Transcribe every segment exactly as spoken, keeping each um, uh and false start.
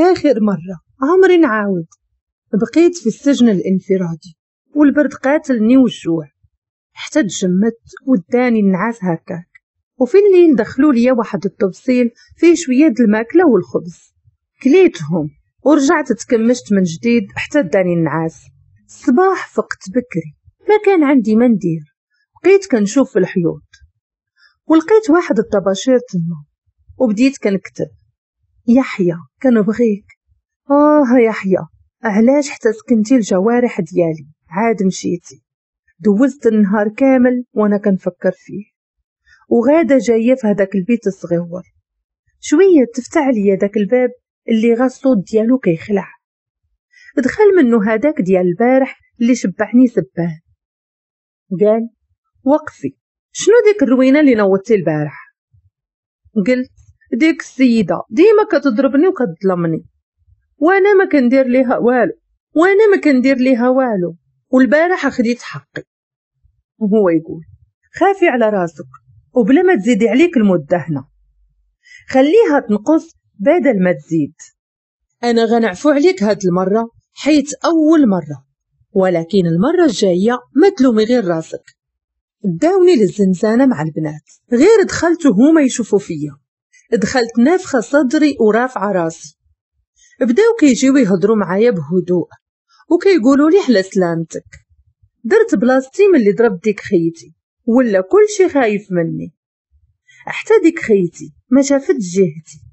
آخر مرة عمري نعاود. بقيت في السجن الانفرادي والبرد قاتلني والجوع حتى تجمدت وداني النعاس هكاك. وفي الليل دخلوا لي واحد التبصيل فيه شوية د الماكلة والخبز، كليتهم ورجعت تكمشت من جديد حتى داني النعاس. الصباح فقت بكري، ما كان عندي ما ندير، بقيت كنشوف في الحيوط ولقيت واحد الطباشير تما وبديت كنكتب: يحيى كنبغيك، اه يحيى علاش حتى سكنتي الجوارح ديالي عاد مشيتي. دوزت النهار كامل وانا كنفكر فيه وغاده جاية في هذاك البيت الصغيور. شوية تفتح ليا داك الباب اللي غا الصوت ديالو كيخلع، دخل منه هذاك ديال البارح اللي شبعني سباه. قال: وقفي، شنو ديك الروينه اللي نوضتي البارح؟ قلت: ديك السيدة ديما كتضربني وكتظلمني وانا ما كندير ليها والو، وانا ما كندير ليها والو، والبارح خديت حقي. وهو يقول: خافي على راسك وبلا ما تزيدي عليك المدة هنا، خليها تنقص بدل ما تزيد. انا غنعفو عليك هاد المرة حيت اول مرة، ولكن المرة الجاية ما تلومي غير راسك. داوني للزنزانه مع البنات، غير دخلت وهما يشوفوا فيا، دخلت نافخه صدري ورافعه راسي. بداو كيجيو يهضروا معايا بهدوء وكيقولوا لي على سلامتك. درت بلاصتي من اللي ضربت ديك خيتي، ولا كلشي خايف مني، حتى ديك خيتي ما شافت جهتي.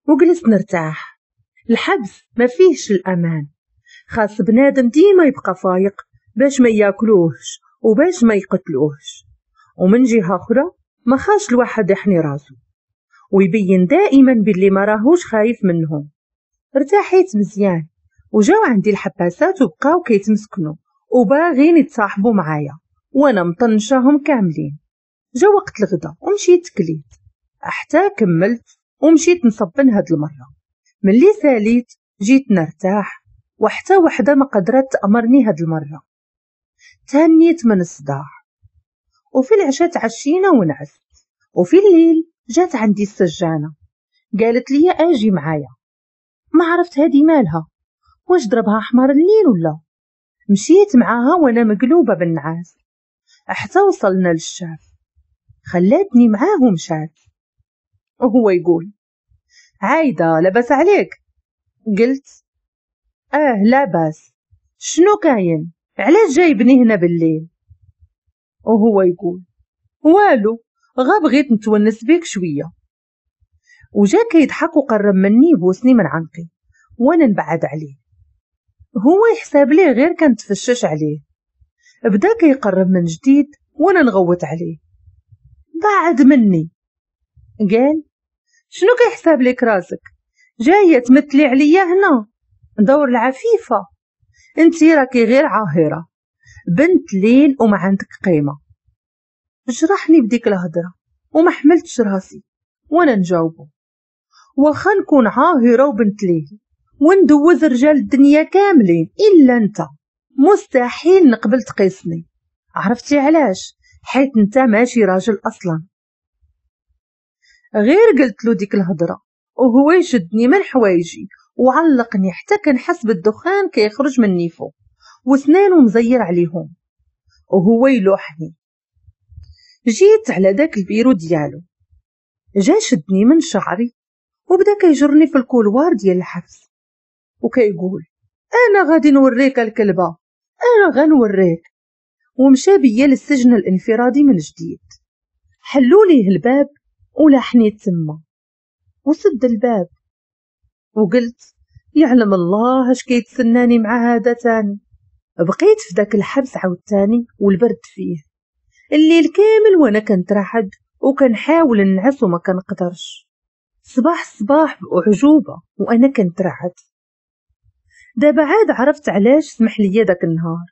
وجلست نرتاح. الحبس ما فيهش الامان، خاص بنادم ديما يبقى فايق باش ما ياكلوهش وباش ما يقتلوهش. ومن جهة اخرى ما خاش الواحد يحني راسو ويبين دائما باللي ما راهوش خايف منهم. ارتاحيت مزيان وجاو عندي الحباسات وبقاو كيتمسكنوا وباغين يتصاحبوا معايا وانا مطنشاهم كاملين. جا وقت الغدا ومشيت كليت حتى كملت ومشيت نصبن هاد المرة. ملي ساليت جيت نرتاح وحتى وحده ما قدرت تأمرني هاد المرة. تهنيت من الصداع. وفي العشاء تعشينا ونعست. وفي الليل جات عندي السجانه قالت لي اجي معايا. ما عرفت هادي مالها، واش ضربها حمار الليل ولا. مشيت معاها وانا مقلوبة بالنعاس حتى وصلنا للشاف. خلاتني معاه ومشات. وهو يقول: عايدة لاباس عليك؟ قلت: اه لاباس. شنو كاين؟ علاش جايبني هنا بالليل؟ وهو يقول: والو، غا بغيت نتونس بيك شوية. وجا كيضحك وقرب مني يبوسني من عنقي وانا نبعد عليه. هو يحسب ليه غير كنتفشش عليه. بدا كيقرب من جديد وانا نغوت عليه: بعد مني. قال: شنو كيحسب لك راسك؟ جاية تمثلي عليا هنا دور العفيفة؟ انتي راكي غير عاهره بنت ليل وما عندك قيمة. جرحني بديك الهضرة وما حملتش راسي وانا نجاوبه: واخا نكون عاهره وبنت ليل وندوز رجال الدنيا كاملين الا انت، مستحيل نقبل تقيسني. عرفتي علاش؟ حيت انت ماشي راجل اصلا. غير قلت له ديك الهضرة وهو يشدني من حوايجي وعلقني حتى كنحس بالدخان كيخرج من نيفو وسنانو مزير عليهم وهو يلوحني. جيت على داك البيرو ديالو، جا شدني من شعري وبدا كيجرني في ال couloir ديال الحبس وكيقول: انا غادي نوريك الكلبة، انا غنوريك. ومشى بيا للسجن الانفرادي من جديد. حلوا ليه الباب ولاحني تما وسد الباب. وقلت: يعلم الله اش كيتسناني مع هذا تاني. بقيت في داك الحبس عاوتاني والبرد فيه الليل كامل وانا كنترعد وكنحاول نعس وما كنقدرش. صباح الصباح باعجوبه وانا كنترعد. دابا عاد عرفت علاش سمح لي داك النهار،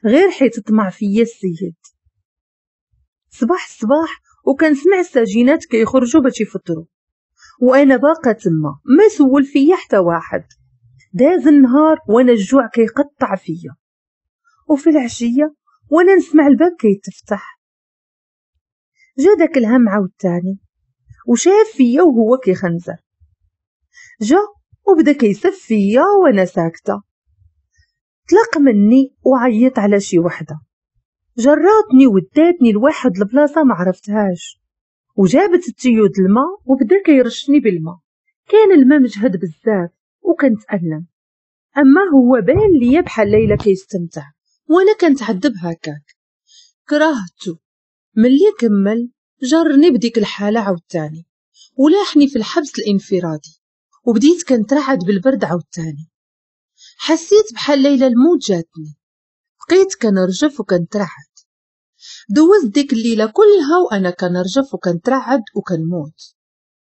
غير حيت طمع فيا السيد. صباح الصباح وكنسمع السجينات كيخرجوا باش يفطروا وانا باقا تما ما سول فيا حتى واحد. داز النهار وانا الجوع كيقطع فيا. وفي العشية وانا نسمع الباب كيتفتح. جا داك الهم عاوتاني وشاف فيا وهو كيخنزر. جا وبدا كيسف فيا وانا ساكته. طلق مني وعيط على شي وحده، جراتني وداتني لواحد البلاصة ما عرفتهاش، وجابت ال tuyau د الماء وبدا كيرشني بالماء. كان الماء مجهد بزاف وكنتألم، اما هو بان ليا بحال ليلى كيستمتع وانا كنتعذب هكاك. كرهته. ملي كمل جرني بديك الحالة عاوتاني ولاحني في الحبس الانفرادي، وبديت كنترعد بالبرد عاوتاني. حسيت بحال ليلى الموت جاتني، بقيت كنرجف وكنترعد. دوزت ديك الليلة كلها وانا كنرجف وكنترعد وكنموت.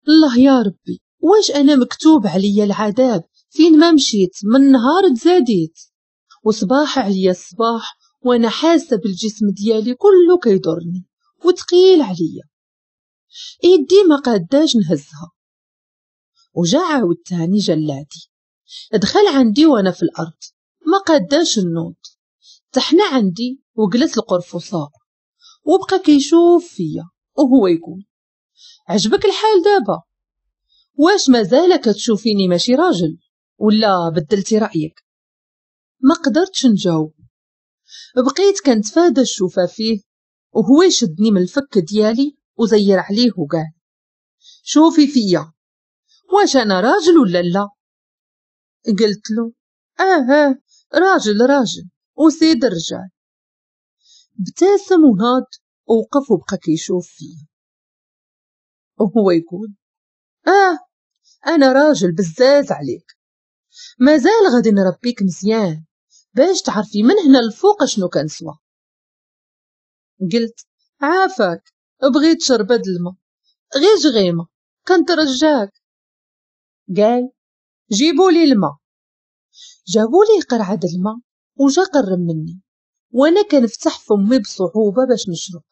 الله يا ربي، واش انا مكتوب عليا العذاب فين ما مشيت من نهار تزاديت. وصباح عليا الصباح وانا حاسه بالجسم ديالي كله كيضرني وثقيل عليا، ايدي ما قاداش نهزها. وجا عاود تاني جلادي دخل عندي وانا في الارض ما قاداش النوض، تحنى عندي وجلس القرفصاء وبقى كيشوف فيا وهو يقول عجبك الحال دابا؟ واش مازال كتشوفيني ماشي راجل ولا بدلتي رايك؟ ما قدرتش نجاوب، بقيت كنتفادى الشوفه فيه وهو يشدني من الفك ديالي وزير عليه وقال شوفي فيا، واش انا راجل ولا لا؟ قلت له اه اه راجل راجل وسيد الرجال. ابتسم وناض ووقف وبقى كيشوف فيا وهو يقول اه انا راجل بزاز عليك، مازال غادي نربيك مزيان باش تعرفي من هنا الفوق شنو كنسوى. قلت عافاك بغيت شربة الماء غير جغيمة كنترجاك. قال جيبوا لي الماء. جابوا لي قرعة الماء وجا قرب مني وانا كنفتح فمي بصعوبة باش نشرب،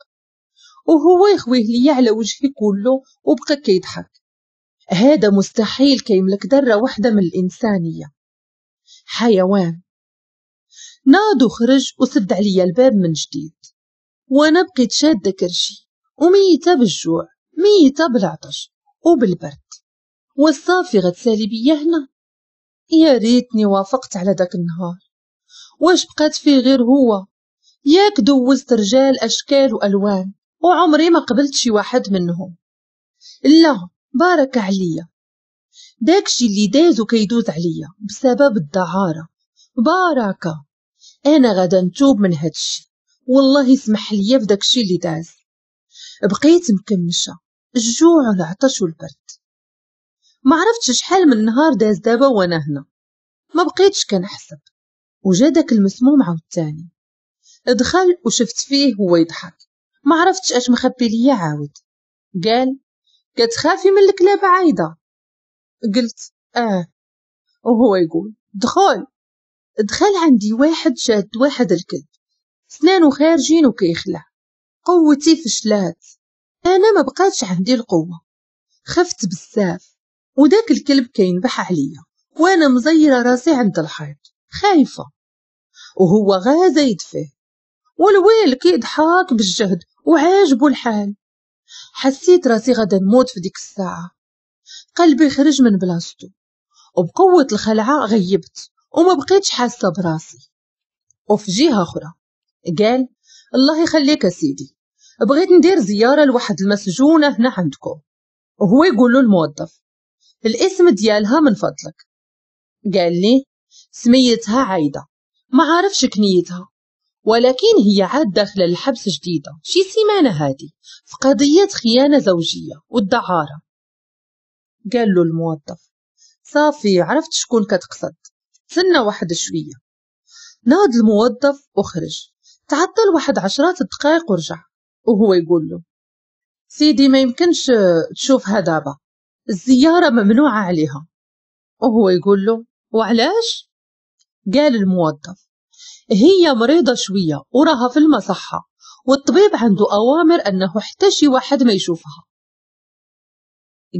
وهو يخويه لي على وجهي كله وبقى كيضحك. هذا مستحيل كيملك ذرة واحدة من الإنسانية، حيوان. ناض وخرج وسد عليا الباب من جديد، وانا بقيت شادة كرشي وميتة بالجوع ميتة بالعطش وبالبرد، والصافي غتسالي بيا هنا. يا ريتني وافقت على داك النهار، واش بقات فيه غير هو؟ ياك دوزت رجال اشكال والوان وعمري ما قبلت شي واحد منهم. لا بارك عليا، داكشي اللي داز وكيدوز عليا بسبب الدعارة بركة. انا غادا نتوب من هادشي، والله يسمح ليا في داكشي اللي داز. بقيت مكمشه الجوع والعطش والبرد، ما عرفتش شحال من نهار داز دابا وانا هنا، ما بقيتش كنحسب. وجا داك المسموم عاوتاني دخل وشفت فيه هو يضحك، ما عرفتش اش مخبي ليا عاود. قال كتخافي من الكلاب عايدة؟ قلت اه. وهو يقول دخل. دخل عندي واحد شاد واحد الكلب، سنانو خارجين وكيخلع. قوتي فشلات، انا ما بقاتش عندي القوة، خفت بزاف. وداك الكلب كينبح عليا وانا مزيره راسي عند الحيط خايفة، وهو غا زايد فيه، والويل كيضحك بالجهد وعاجبو الحال. حسيت راسي غادا نموت في ديك الساعة، قلبي خرج من بلاصتو وبقوة الخلعة غيبت وما بقيتش حاسه براسي. وفي جهة اخرى قال الله يخليك سيدي، بغيت ندير زيارة لواحد المسجونه هنا عندكم. وهو يقول له الموظف الاسم ديالها من فضلك. قال لي سميتها عايدة، ما عارفش كنيتها، ولكن هي عاد داخله الحبس جديدة شي سيمانه هادي في قضية خيانة زوجيه والدعاره. قال له الموظف صافي عرفت شكون كتقصد، تسنى واحد شوية. ناض الموظف وخرج، تعطل واحد عشرات الدقائق ورجع وهو يقول له سيدي ما يمكنش تشوفها دابا، الزيارة ممنوعة عليها. وهو يقول له وعلاش؟ قال الموظف هي مريضة شوية وراها في المصحة، والطبيب عنده أوامر أنه حتى شي واحد ما يشوفها.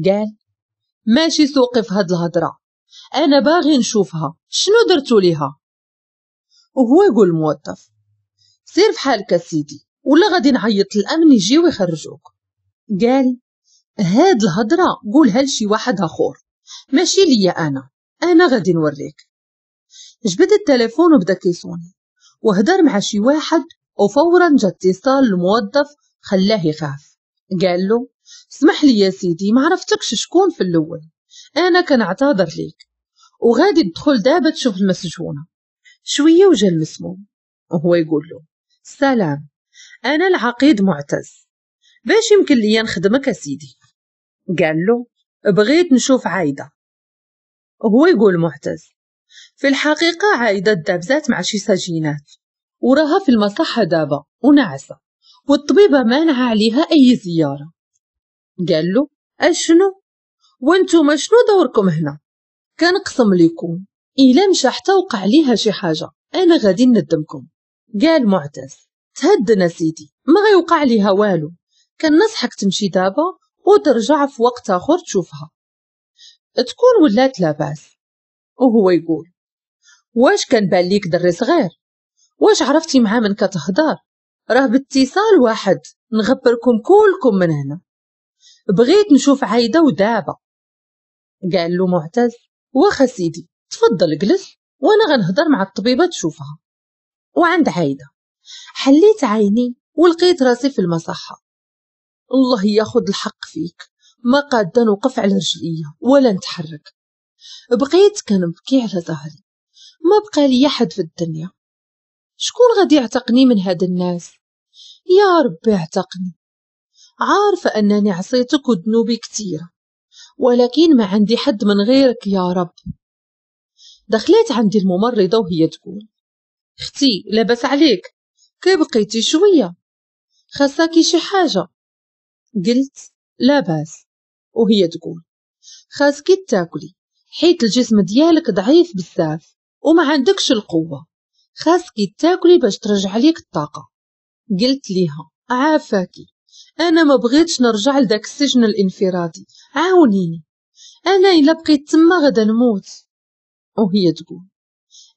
قال ماشي سوقي في هاد الهضرة، أنا باغي نشوفها، شنو درتو ليها؟ وهو يقول الموظف سير في حالك سيدي ولا غادي نعيط للأمن يجي ويخرجوك. قال هاد الهضرة قولها لشي واحد آخر ماشي ليا أنا، انا غادي نوريك. جبد التليفون وبدا كيصوني وهدر مع شي واحد، وفورا جا اتصال الموظف خلاه يخاف. قال له اسمح لي يا سيدي، ما عرفتكش شكون في الاول، انا كنعتذر ليك وغادي تدخل دابا تشوف المسجونه. شوية وجا المسموم وهو يقول له سلام، انا العقيد معتز، باش يمكن لي نخدمك اسيدي؟ قال له بغيت نشوف عايدة. وهو يقول معتز في الحقيقة عايدة دابزات مع شي سجينات وراها في المصحه دابا ونعسه، والطبيبه مانعة عليها اي زيارة. قال له اشنو؟ وانتم شنو دوركم هنا؟ كنقسم لكم الا مشى حتى وقع ليها شي حاجة انا غادي ندمكم. قال معتز تهدنا سيدي، ما غيوقع ليها والو، كنصحك تمشي دابا وترجع في وقت اخر تشوفها، تكون ولات لاباس. وهو يقول واش كان بان ليك دري صغير؟ واش عرفتي مع من كتهضر؟ راه باتصال واحد نغبركم كلكم من هنا، بغيت نشوف عايدة ودابا. قال له معتز واخا سيدي تفضل جلس وانا غنهضر مع الطبيبة تشوفها. وعند عايدة حليت عيني ولقيت راسي في المصحه. الله ياخد الحق فيك، ما قاده نوقف على رجليا ولا نتحرك. بقيت كنبكي على ظهري، ما بقى لي حد في الدنيا، شكون غادي يعتقني من هاد الناس؟ يا ربي اعتقني. عارفه انني عصيتك وذنوبي كثيرة، ولكن ما عندي حد من غيرك يا رب. دخلت عندي الممرضة وهي تقول اختي لاباس عليك، كي بقيتي شوية؟ خاصاكي شي حاجة؟ قلت لاباس. وهي تقول خاصكي تاكلي حيت الجسم ديالك ضعيف بزاف وما عندكش القوة، خاصكي تاكلي باش ترجع ليك الطاقة. قلت ليها عافاكي، انا ما بغيتش نرجع لداك السجن الانفرادي، عاونيني، انا الا بقيت تما غادا نموت. وهي تقول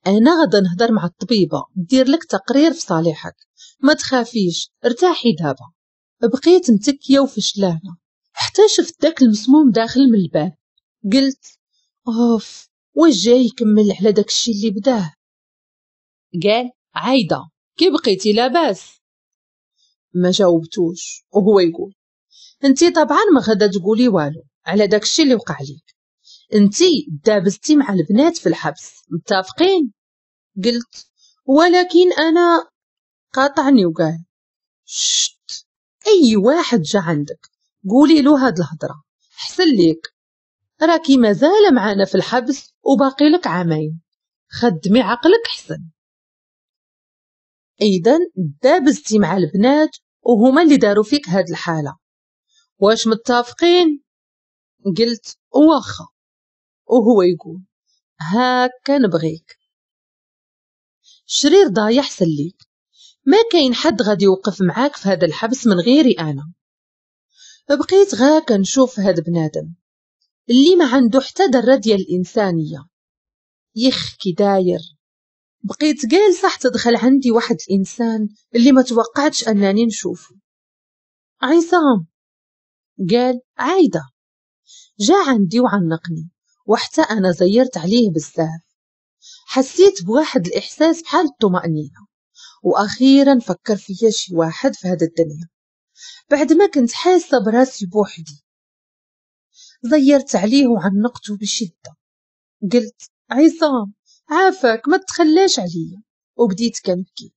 انا غادا نهضر مع الطبيبة دير لك تقرير في صالحك، ما تخافيش ارتاحي دابا. بقيت متكيه وفشلانه حتى شفت داك المسموم داخل من الباب. قلت اوف، واش جاي يكمل على داك الشيء اللي بداه؟ قال عايدة كي بقيتي لاباس؟ ما جاوبتوش. وهو يقول انتي طبعا ما غادا تقولي والو على داك الشيء اللي وقع ليك، انتي دابزتي مع البنات في الحبس، متفقين؟ قلت ولكن انا. قاطعني وقال شت، اي واحد جا عندك قولي له هاد الهضرة حسن ليك، راكي مازال معانا في الحبس وباقي لك عامين، خدمي عقلك حسن. اذا دابزتي مع البنات وهما اللي داروا فيك هاد الحالة، واش متفقين؟ قلت واخا. وهو يقول هاكا نبغيك، شرير ضايع حسن ليك، ما كاين حد غادي يوقف معاك في هذا الحبس من غيري انا. بقيت غا كنشوف هاد بنادم اللي ما عنده حتى ذره ديال الانسانية، يخ كي داير. بقيت جالسة حتى دخل عندي واحد الانسان اللي ما توقعتش انني نشوفه، عصام. قال عايدة. جا عندي وعنقني، وحتى انا زيرت عليه بزاف. حسيت بواحد الاحساس بحال الطمأنينة، واخيرا فكر فيا شي واحد في هذا الدنيا بعد ما كنت حاسه براسي بوحدي. زيرت عليه وعنقته بشده. قلت عصام عافاك ما تخلاش عليا، وبديت كنبكي،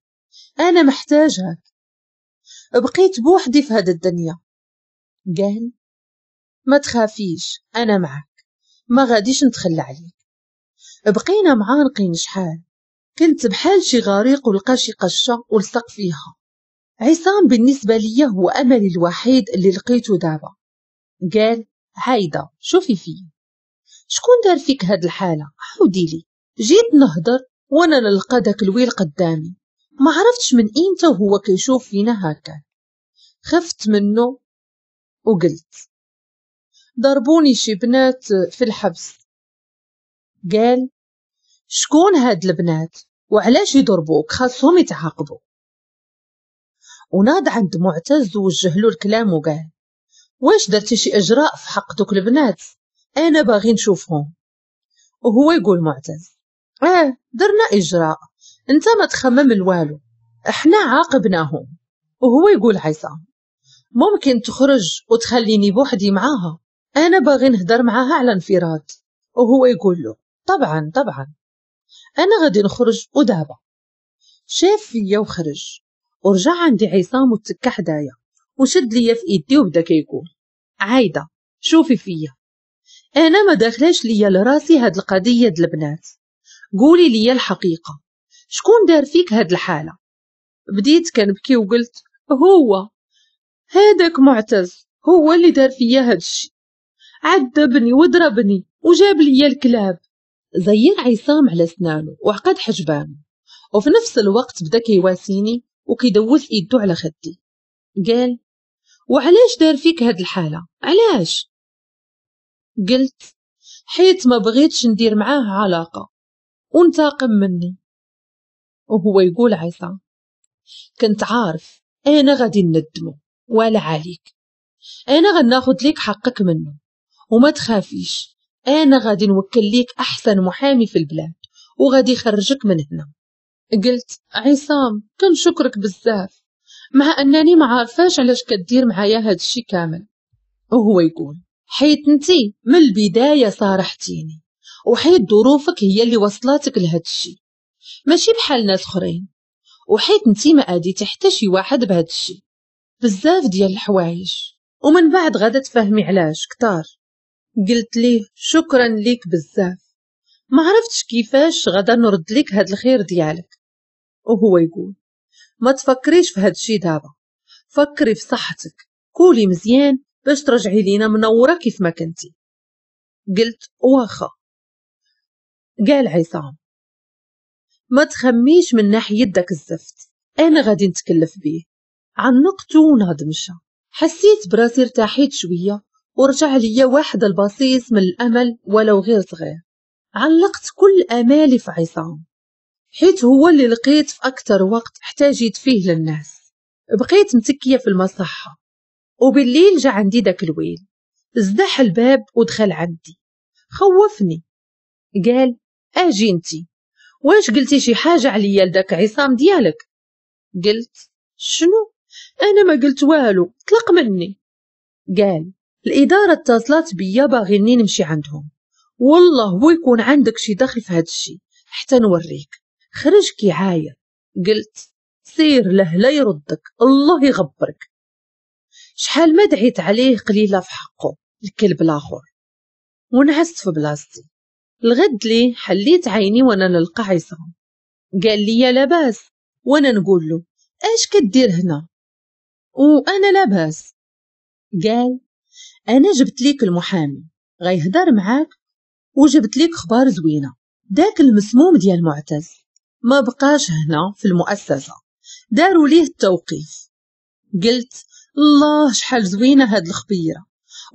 انا محتاجك، بقيت بوحدي في هذا الدنيا. قال ما تخافيش انا معك، ما غاديش نتخلى عليك. بقينا معانقين شحال، كنت بحال شي غريق ولقى شي قشه ولصق فيها. عصام بالنسبة ليا هو املي الوحيد اللي لقيته دابا. قال عايدة شوفي فيا، شكون دار فيك هاد الحالة؟ عاودي لي. جيت نهضر وانا نلقى داك الويل قدامي، ما عرفتش من امتى وهو كيشوف فينا هكا. خفت منه وقلت ضربوني شي بنات في الحبس. قال شكون هاد البنات وعلاش يضربوك؟ خاصهم يتعاقبوا. وناض عند معتز ووجه له الكلام وقال واش درتي شي اجراء في حق دوك البنات؟ انا باغي نشوفهم. وهو يقول معتز اه درنا اجراء، انت ما تخمم الوالو، احنا عاقبناهم. وهو يقول عصام ممكن تخرج وتخليني بوحدي معاها، انا باغي نهدر معاها على انفراد. وهو يقول له طبعا طبعا انا غادي نخرج ودابا. شاف فيا وخرج ورجع عندي عصام وتكا حدايا وشد ليا في ايدي وبدا كيقول عايده شوفي فيا، انا ما داخلاش ليا لراسي هاد القضيه د البنات، قولي ليا الحقيقه، شكون دار فيك هاد الحاله؟ بديت كنبكي وقلت هو هذاك معتز، هو اللي دار فيا هاد الشيء، عذبني وضربني وجاب ليا الكلاب. زير عصام على سنانه وعقد حجبانه، وفي نفس الوقت بدا كيواسيني وكيدوز ايدو على خدي. قال وعلاش دار فيك هاد الحاله؟ علاش؟ قلت حيت ما بغيتش ندير معاه علاقه وانتقم مني. وهو يقول عصام كنت عارف انا غادي ندمو، ولا عليك، انا غناخد ليك حقك منه، وما تخافيش، انا غادي نوكل ليك احسن محامي في البلاد وغادي يخرجك من هنا. قلت عصام كنشكرك بزاف، مع انني ما عارفاش علاش كدير معايا هاد الشي كامل. وهو يقول حيت انتي من البدايه صارحتيني، وحيت ظروفك هي اللي وصلاتك لهاد الشي، ماشي بحال ناس اخرين، وحيت انتي ما اديتي حتى شي واحد بهاد الشي، بزاف ديال الحوايج، ومن بعد غادا تفهمي علاش كتار. قلت ليه شكرا ليك بزاف، ما عرفتش كيفاش غادا نرد ليك هاد الخير ديالك. وهو يقول ما تفكريش في هاد الشي دابا، فكري في صحتك، كولي مزيان باش ترجعي لينا منوره كيف ما كنتي. قلت واخا. قال عصام ما تخميش من ناحيه داك الزفت، انا غادي نتكلف بيه. عنقته ونهض مشى. حسيت براسي ارتاحيت شويه ورجع ليا واحد البصيص من الامل ولو غير صغير. علقت كل امالي في عصام، حيت هو اللي لقيت في اكثر وقت احتاجيت فيه للناس. بقيت متكيه في المصحه، وبالليل جا عندي داك الويل، زدح الباب ودخل عندي، خوفني. قال اجي انتي، واش قلتي شي حاجه عليا لداك عصام ديالك؟ قلت شنو؟ انا ما قلت والو، طلق مني. قال الاداره اتصلت بيا باغيني نمشي عندهم، والله هو يكون عندك شي دخل في هاد الشي حتى نوريك. خرج كيعاير. قلت سير له لا يردك، الله يغبرك. شحال ما دعيت عليه قليله في حقه الكلب الاخر. ونعست في بلاصتي. الغد لي حليت عيني وانا نلقى عصام. قال لي يا لاباس، وانا نقول له اش كدير هنا؟ وانا لاباس. قال انا جبت ليك المحامي غيهدر معاك، وجبت ليك خبار زوينه، داك المسموم ديال معتز ما بقاش هنا في المؤسسه، داروا ليه التوقيف. قلت الله شحال زوينه هاد الخبيره،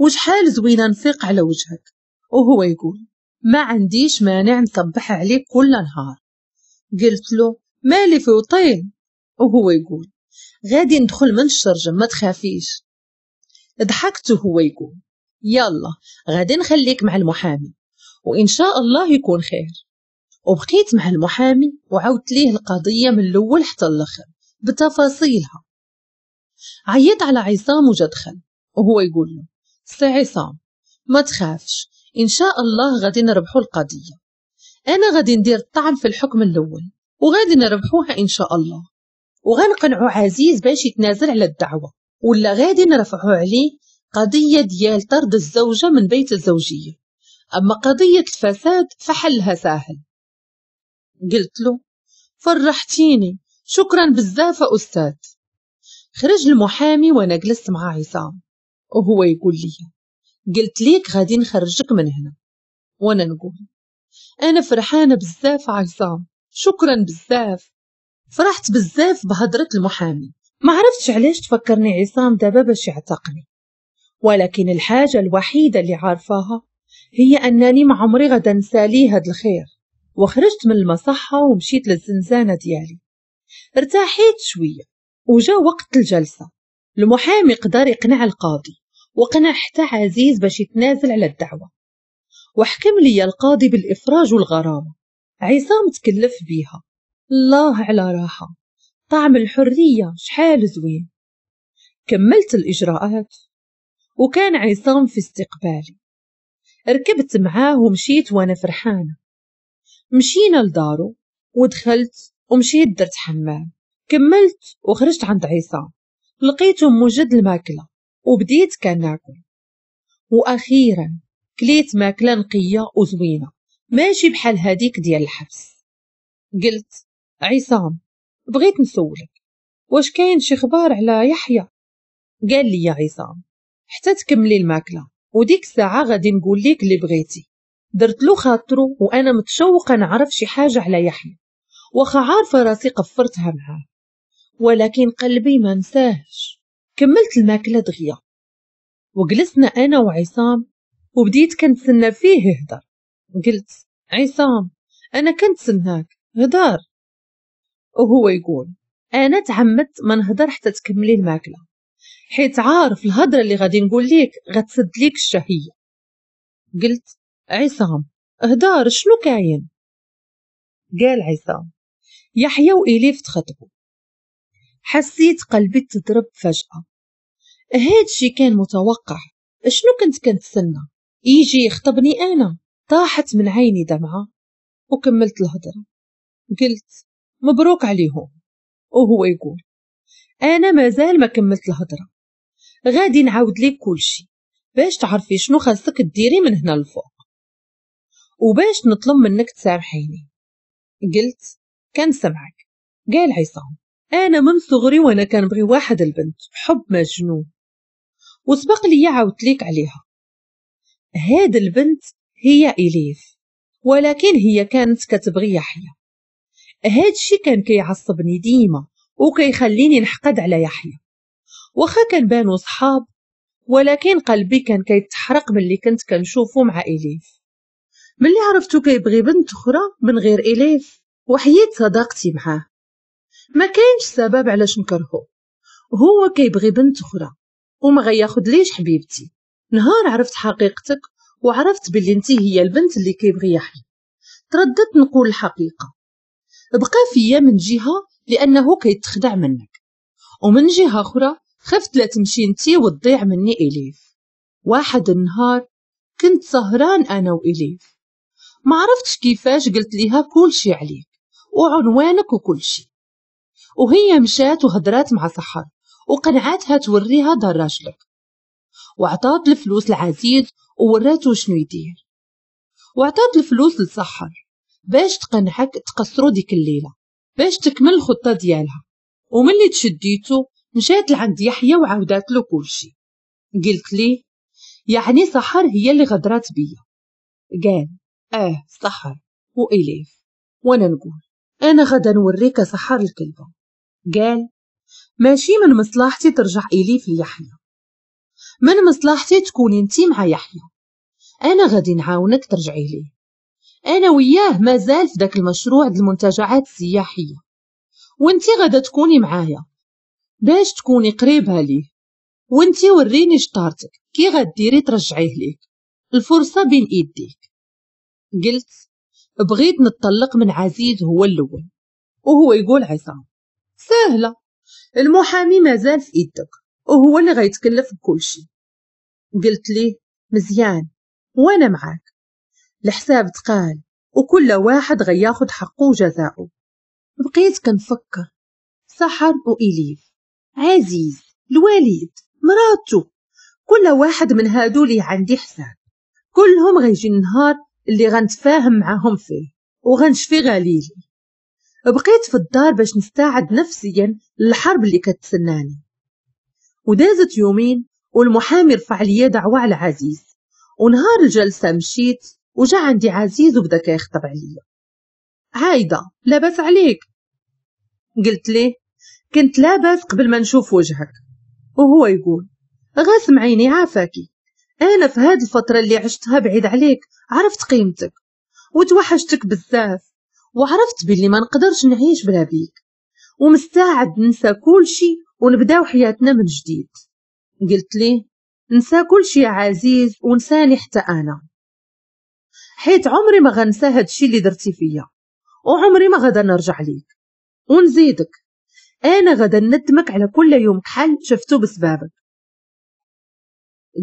وشحال زوينه نفيق على وجهك. وهو يقول ما عنديش مانع نصبح عليك كل نهار. قلت له مالي في وطين؟ وهو يقول غادي ندخل من الشرجم ما تخافيش. ضحكت وهو يقول يلا غادي نخليك مع المحامي وإن شاء الله يكون خير. وبقيت مع المحامي وعاودت ليه القضية من الأول حتى الآخر بتفاصيلها. عيط على عصام وجا دخل وهو يقول له سي عصام ما تخافش، إن شاء الله غادي نربحو القضية، أنا غادي ندير الطعن في الحكم الأول وغادي نربحوها إن شاء الله، وغنقنعو عزيز باش يتنازل على الدعوة، ولا غادي نرفعو عليه قضية ديال طرد الزوجة من بيت الزوجية، أما قضية الفساد فحلها ساهل. قلت له فرحتيني، شكرا بزاف أستاذ. خرج المحامي وأنا جلست مع عصام وهو يقول لي قلت ليك غادي نخرجك من هنا، وانا نقول انا فرحانه بزاف عصام، شكرا بزاف. فرحت بزاف بهضره المحامي، ما عرفتش علاش تفكرني عصام دابا باش يعتقني، ولكن الحاجه الوحيده اللي عارفاها هي انني ما عمري غدا نسالي هاد الخير. وخرجت من المصحه ومشيت للزنزانه ديالي، ارتاحيت شويه وجا وقت الجلسه. المحامي قدر يقنع القاضي وقنع حتى عزيز باش يتنازل على الدعوة، وحكم لي القاضي بالإفراج والغرامة. عصام تكلف بيها. الله على راحة، طعم الحرية شحال زوين. كملت الإجراءات وكان عصام في استقبالي. ركبت معاه ومشيت وأنا فرحانة. مشينا لدارو ودخلت ومشيت درت حمام، كملت وخرجت عند عصام، لقيته موجد الماكلة وبديت كناكل. وأخيرا كليت ماكلة نقية وزوينة، ماشي بحال هاديك ديال الحبس. قلت عصام بغيت نسولك، واش كاين شي خبار على يحيى؟ قال لي يا عصام حتى تكملي الماكلة وديك الساعة غادي نقول لك اللي بغيتي. درت له خاطرو وأنا متشوقة نعرف شي حاجة على يحيى، واخا عارفة راسي قفرتها معاه، ولكن قلبي ما نساهش. كملت الماكلة دغيا وجلسنا أنا وعصام وبديت كنتسنى فيه يهدر. قلت عصام أنا كنتسناك هدار. وهو يقول أنا تعمدت ما نهدر حتى تكملي الماكلة، حيت عارف الهضرة اللي غادي نقول لك غتسد ليك الشهية. قلت عصام هدار شنو كاين؟ قال عصام يحيى وإليف تخطبوا. حسيت قلبي تضرب فجأة. هادشي كان متوقع، شنو كنت كنتسنى يجي يخطبني أنا؟ طاحت من عيني دمعة وكملت الهضرة. قلت مبروك عليهم. وهو يقول أنا مازال ما كملت الهضرة، غادي نعاود لك كلشي باش تعرفي شنو خاصك ديري من هنا للفوق، وباش نطلب منك تسامحيني. قلت كنسمعك. قال عصام أنا من صغري وأنا كنبغي واحد البنت حب مجنون، وسبق لي عاودت ليك عليها. هاد البنت هي إليف، ولكن هي كانت كتبغي يحيى. هاد الشي كان كيعصبني ديما وكيخليني نحقد على يحيى، واخا كنبانو صحاب، ولكن قلبي كان كيتحرق ملي كنت كنشوفو مع إليف. ملي عرفتو كيبغي بنت أخرى من غير إليف وحييت صداقتي معاه. ما كاينش سبب علاش نكرهو، هو كيبغي بنت أخرى وما غياخد ليش حبيبتي. نهار عرفت حقيقتك وعرفت باللي انتي هي البنت اللي كيبغي يحيى، ترددت نقول الحقيقة. بقى فيا من جهة لأنه كيتخدع منك، ومن جهة أخرى خفت لا تمشي انتي وتضيع مني إليف. واحد النهار كنت سهران أنا وإليف، ما عرفتش كيفاش قلت ليها كل شي عليك وعنوانك وكل شي، وهي مشات وهدرات مع سحر وقنعاتها توريها دار راجلك، وعطات الفلوس لعزيز ووراتو شنو يدير، وعطات الفلوس لسحر باش تقنعك تقصرو ديك الليلة باش تكمل الخطة ديالها. وملي تشديتو مشات لعند يحيى وعاودات له كلشي. قلت ليه يعني سحر هي اللي غدرات بيا؟ قال اه سحر وإليف. وانا نقول انا غدا نوريك سحر الكلبة. قال ماشي من مصلحتي ترجع إليف ليحيى، من مصلحتي تكوني انتي مع يحيى، انا غادي نعاونك ترجعي ليه. انا وياه مازال في داك المشروع د المنتجعات السياحية، وانتي غادا تكوني معايا باش تكوني قريبه ليه، وانتي وريني شطارتك كي غديري ترجعيه ليك، الفرصة بين ايديك. قلت بغيت نتطلق من عزيز هو الاول، وهو يقول عصام سهلة، المحامي مازال في ايدك وهو اللي غيتكلف بكل شيء. قلت ليه مزيان وانا معاك، الحساب تقال وكل واحد غياخد حقه وجزاؤه. بقيت كنفكر سحر وإليف، عزيز، الوليد، مراتو، كل واحد من هادو لي عندي حساب، كلهم غيجي النهار اللي غنتفاهم معاهم فيه وغنشفي غليلي. بقيت في الدار باش نستعد نفسيا للحرب اللي كتسناني. ودازت يومين والمحامي رفع لي دعوة على عزيز، ونهار الجلسة مشيت وجا عندي عزيز وبدا كيخطب عليا. عايدة لاباس عليك؟ قلت ليه كنت لاباس قبل ما نشوف وجهك. وهو يقول غاسم عيني عافاكي، انا في هاد الفترة اللي عشتها بعيد عليك عرفت قيمتك وتوحشتك بزاف، وعرفت باللي ما نقدرش نعيش بلا بيك، ومستعد ننسى كل شي ونبداو حياتنا من جديد. قلت ليه ننسى كل شي يا عزيز ونساني حتى انا. حيت عمري ما غنسى هادشي اللي درتي فيا، وعمري ما غادا نرجع ليك. ونزيدك انا غادا ندمك على كل يوم كحل شفتو بسبابك.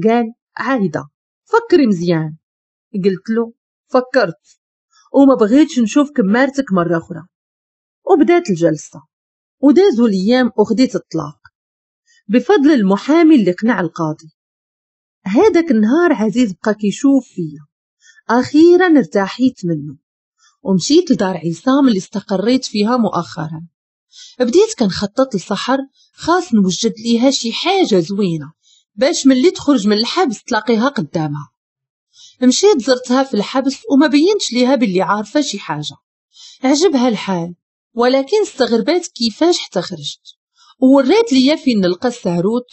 قال عايدة فكري مزيان. قلت له فكرت وما بغيتش نشوف كمارتك مرة أخرى. وبدات الجلسة ودازوا الأيام وخديت الطلاق بفضل المحامي اللي قنع القاضي. هذاك النهار عزيز بقى كيشوف فيا، أخيرا ارتاحيت منه ومشيت لدار عصام اللي استقريت فيها مؤخرا. بديت كنخطط لسحر، خاص نوجد ليها شي حاجة زوينة باش ملي تخرج من الحبس تلاقيها قدامها. مشيت زرتها في الحبس وما بينتش ليها باللي عارفة شي حاجة. عجبها الحال، ولكن استغربات كيفاش حتى خرجت، وورات ليا فين نلقى الساروت.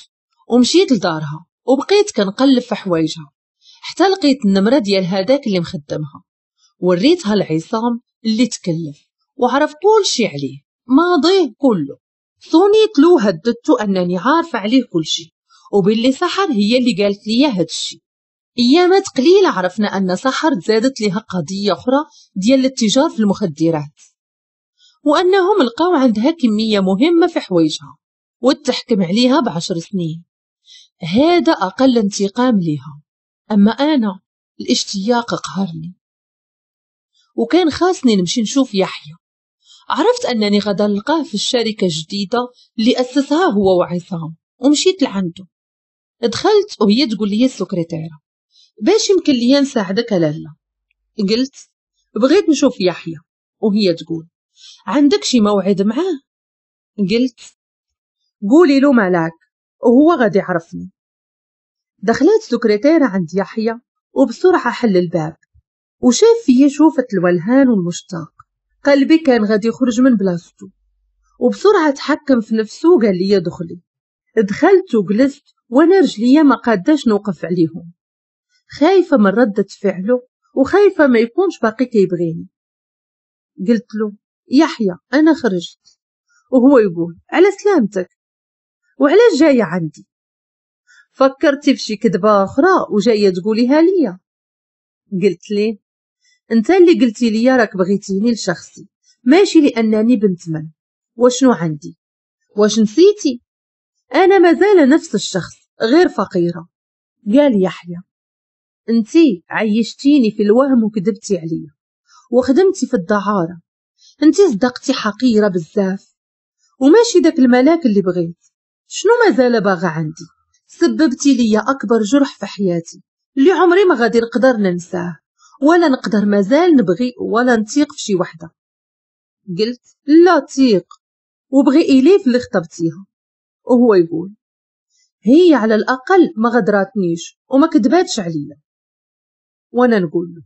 ومشيت لدارها وبقيت كنقلب في حوايجها حتى لقيت النمرة ديال هذاك اللي مخدمها. وريتها لعصام اللي تكلف وعرف كل شي عليه، ماضيه كله. صونيت له هددته انني عارفه عليه كل شي، وباللي سحر هي اللي قالت لي هاد الشي. ايامات قليله عرفنا ان سحر تزادت لها قضية اخرى ديال الاتجار في المخدرات، وانهم لقاو عندها كمية مهمة في حوايجها وتحكم عليها بعشر سنين. هذا اقل انتقام لها. اما انا الاشتياق قهرني، وكان خاصني نمشي نشوف يحيى. عرفت انني غدا نلقاه في الشركة الجديدة اللي اسسها هو وعصام، ومشيت لعنده. دخلت وهي تقول لي السكرتيره باش يمكن لي نساعدك لالا. قلت بغيت نشوف يحيى، وهي تقول عندك شي موعد معاه؟ قلت قولي له ملاك وهو غادي يعرفني. دخلت السكرتيره عند يحيى وبسرعة حل الباب وشاف فيا شوفة الولهان والمشتاق. قلبي كان غادي يخرج من بلاصتو، وبسرعة تحكم في نفسه وقال لي دخلي. دخلت وجلست وانا رجليا ما قاداش نوقف عليهم، خايفة من ردة فعله وخايفة ما يكونش باقي كيبغيني. قلت له يحيى انا خرجت، وهو يقول على سلامتك وعلاش جاية عندي؟ فكرتي في شي كذبه اخرى وجاية تقوليها ليا؟ قلت ليه انت اللي قلتي لي راك بغيتيني لشخصي ماشي لانني بنت من، وشنو عندي؟ واش نسيتي؟ انا مازال نفس الشخص غير فقيرة. قال يحيى انتي عيشتيني في الوهم وكذبتي عليا وخدمتي في الدعاره، انتي صدقتي حقيرة بزاف وماشي داك الملاك اللي بغيت. شنو مازال باغا عندي؟ سببتي لي اكبر جرح في حياتي اللي عمري ما غادي نقدر ننساه، ولا نقدر مازال نبغي ولا نثيق في شي وحده. قلت لا تيق وبغي إليف اللي خطبتيها. وهو يقول هي على الأقل ما غدراتنيش وما كذباتش عليا. وانا نقول له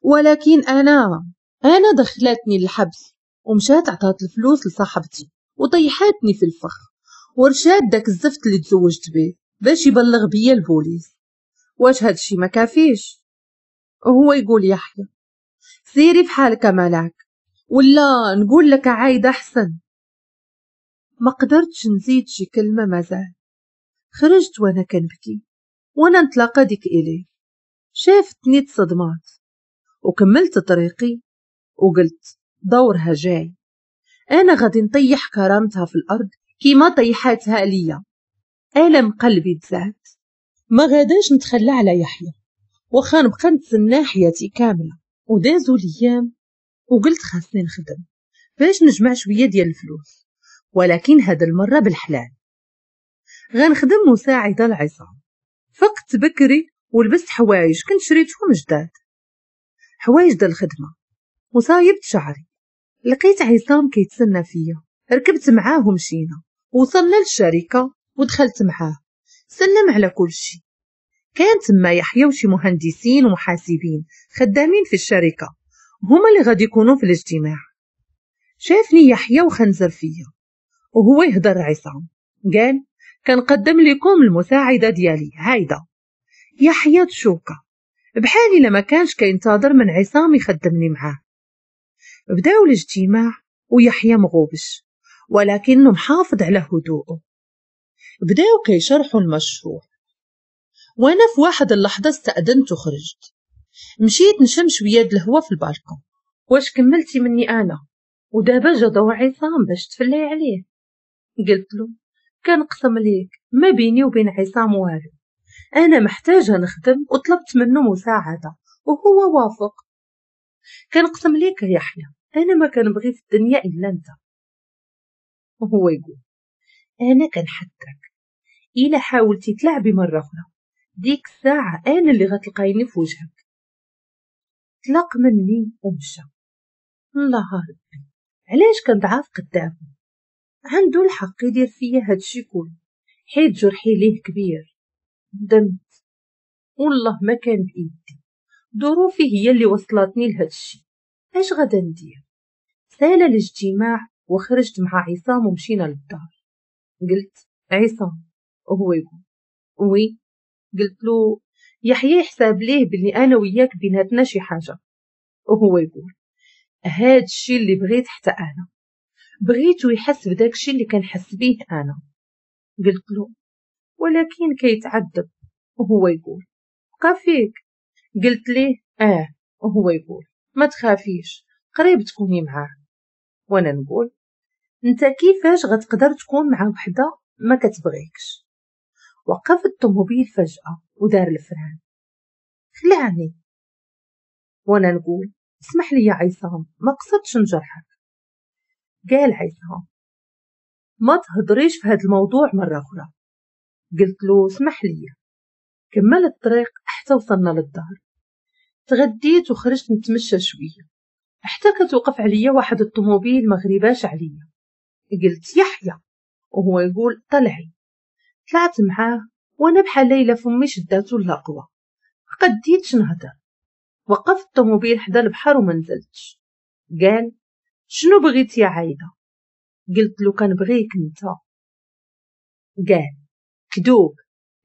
ولكن أنا أنا دخلتني للحبس ومشات عطات الفلوس لصاحبتي وطيحاتني في الفخ ورشاد داك الزفت اللي تزوجت به باش يبلغ بيا البوليس. واش هادشي ما كافيش؟ وهو يقول يحيى سيري في حالك ملاك، ولا نقول لك عايدة أحسن. ما قدرتش نزيد شي كلمة مازال. خرجت وانا كنبكي وانا نتلاقى ديك إليه. شافتني تصدمات وكملت طريقي وقلت دورها جاي، انا غادي نطيح كرامتها في الارض كيما طيحاتها ليا. الم قلبي تزاد، ما غاداش نتخلى على يحيى واخا نبقى نتسنى حياتي كاملة. ودازوا الايام وقلت خاصني نخدم باش نجمع شوية ديال الفلوس، ولكن هاد المرة بالحلال غنخدم مساعدة لعصام. فقت بكري ولبست حوايج كنت شريتهم جداد، حوايج ديال الخدمة، وصايبت شعري. لقيت عصام كيتسنى فيا، ركبت معاه ومشينا، وصلنا للشركة ودخلت معاه، سلم على كل شيء. كان تما يحيى وشي مهندسين ومحاسبين خدامين في الشركة، هما اللي غادي يكونوا في الاجتماع. شافني يحيى وخنزر فيا وهو يهضر عصام، قال كنقدم لكم المساعدة ديالي هايده. يحيى تشوكا بحالي لما كانش كينتظر من عصام يخدمني معاه. بداو الاجتماع ويحيى مغوبش ولكنه محافظ على هدوءه. بداو كيشرحوا المشروع، وانا في واحد اللحظة استأذنت وخرجت. مشيت نشم شوية د الهوا في البالكون. واش كملتي مني انا؟ ودابا جا دور عصام باش تفلي عليه. قلت له كنقسم ليك ما بيني وبين عصام والو، انا محتاجه نخدم وطلبت منه مساعدة وهو وافق. كنقسم ليك يا يحيى انا ما كنبغي في الدنيا الا انت. وهو يقول انا كنحذرك، الا حاولتي تلعبي مرة اخرى ديك الساعة انا اللي غتلقايني في وجهك. طلق مني ومشى. الله ربي علاش كنضعف قدامه؟ عنده الحق يدير فيا هادشي كله حيت جرحي ليه كبير. ندمت والله ما كان بايدي، ظروفي هي اللي وصلتني لهادشي. اش غادا ندير؟ سال الاجتماع وخرجت مع عصام ومشينا للدار. قلت عصام، وهو يقول oui. قلت له يحيى يحسب ليه بلي انا وياك بيناتنا شي حاجة. وهو يقول هاد الشي اللي بغيت حتى انا، بغيتو يحس بداك الشي اللي كنحس بيه انا. قلت له ولكن كيتعذب. وهو يقول بقى فيك. قلت ليه اه. وهو يقول ما تخافيش قريب تكوني معاه. وانا نقول انت كيفاش غتقدر تكون مع وحده ما كتبغيكش؟ وقف الطوموبيل فجأة ودار ال frein، خلعني. وانا نقول اسمح لي يا عصام ما قصدتش نجرحك. قال عصام ما تهضريش في هذا الموضوع مرة أخرى. قلت له اسمح لي. كمل الطريق حتى وصلنا للدار. تغديت وخرجت نتمشى شوية حتى كتوقف عليا واحد الطوموبيل ما غريباش عليا. قلت يحيى، وهو يقول طلعي. طلعت معاه وانا بحال ليلى فمي شداتو اللقوه، قديتش نهضر. وقفت الطوموبيل حدا البحر وما نزلتش. قال شنو بغيتي يا عايدة؟ قلت له كنبغيك انت. قال كذوب،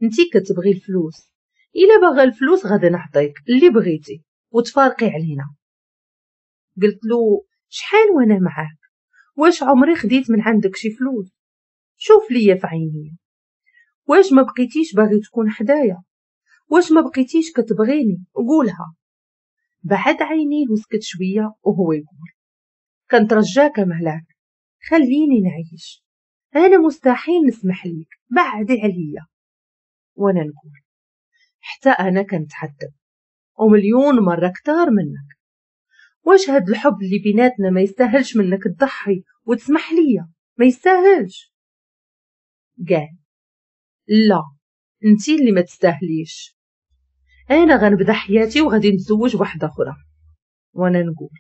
انتي كتبغي الفلوس، الا باغا الفلوس غادي نعطيك اللي بغيتي وتفارقي علينا. قلت له شحال وانا معاك، واش عمري خديت من عندك شي فلوس؟ شوف ليا في عيني، واش ما بقيتيش باغي تكون حدايا؟ واش ما بقيتيش كتبغيني؟ قولها. بعد عينيه وسكت شوية وهو يقول كنترجاك مهلاك خليني نعيش، انا مستحيل نسمح ليك، بعدي عليا. وانا نقول حتى انا كنتعذب ومليون مرة كتار منك، واش هاد الحب اللي بيناتنا ما يستاهلش منك تضحي وتسمح ليا؟ ما يستاهلش. قال لا انتي اللي ما تستاهليش، انا غنبدا حياتي وغادي نتزوج واحدة اخرى. وانا نقول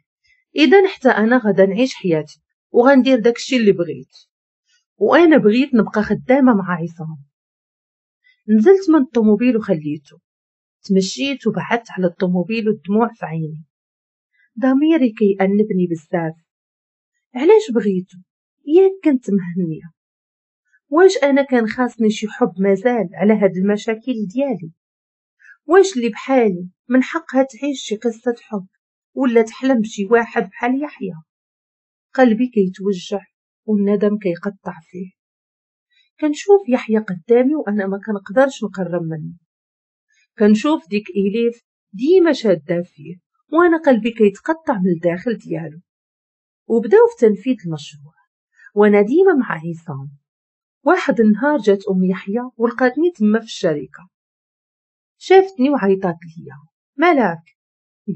اذا حتى انا غادا نعيش حياتي وغندير داكشي اللي بغيت، وانا بغيت نبقى خدامه مع عصام. نزلت من الطوموبيل وخليته، تمشيت وبعدت على الطوموبيل والدموع في عيني. ضميري كيأنبني بزاف، علاش بغيته؟ ياك كنت مهنية، واش انا كان خاصني شي حب مازال على هاد المشاكل ديالي؟ واش اللي بحالي من حقها تعيش شي قصة حب ولا تحلم بشي واحد بحال يحيى؟ قلبي كيتوجع والندم كيقطع فيه. كنشوف يحيى قدامي وانا ما كنقدرش نقرب منه، كنشوف ديك إليف ديما شاده فيه وانا قلبي كيتقطع من الداخل ديالو. وبداو في تنفيذ المشروع وانا ديما مع عصام. واحد النهار جات ام يحيى ولقاتني تما في الشركة، شافتني وعيطات ليا ملاك.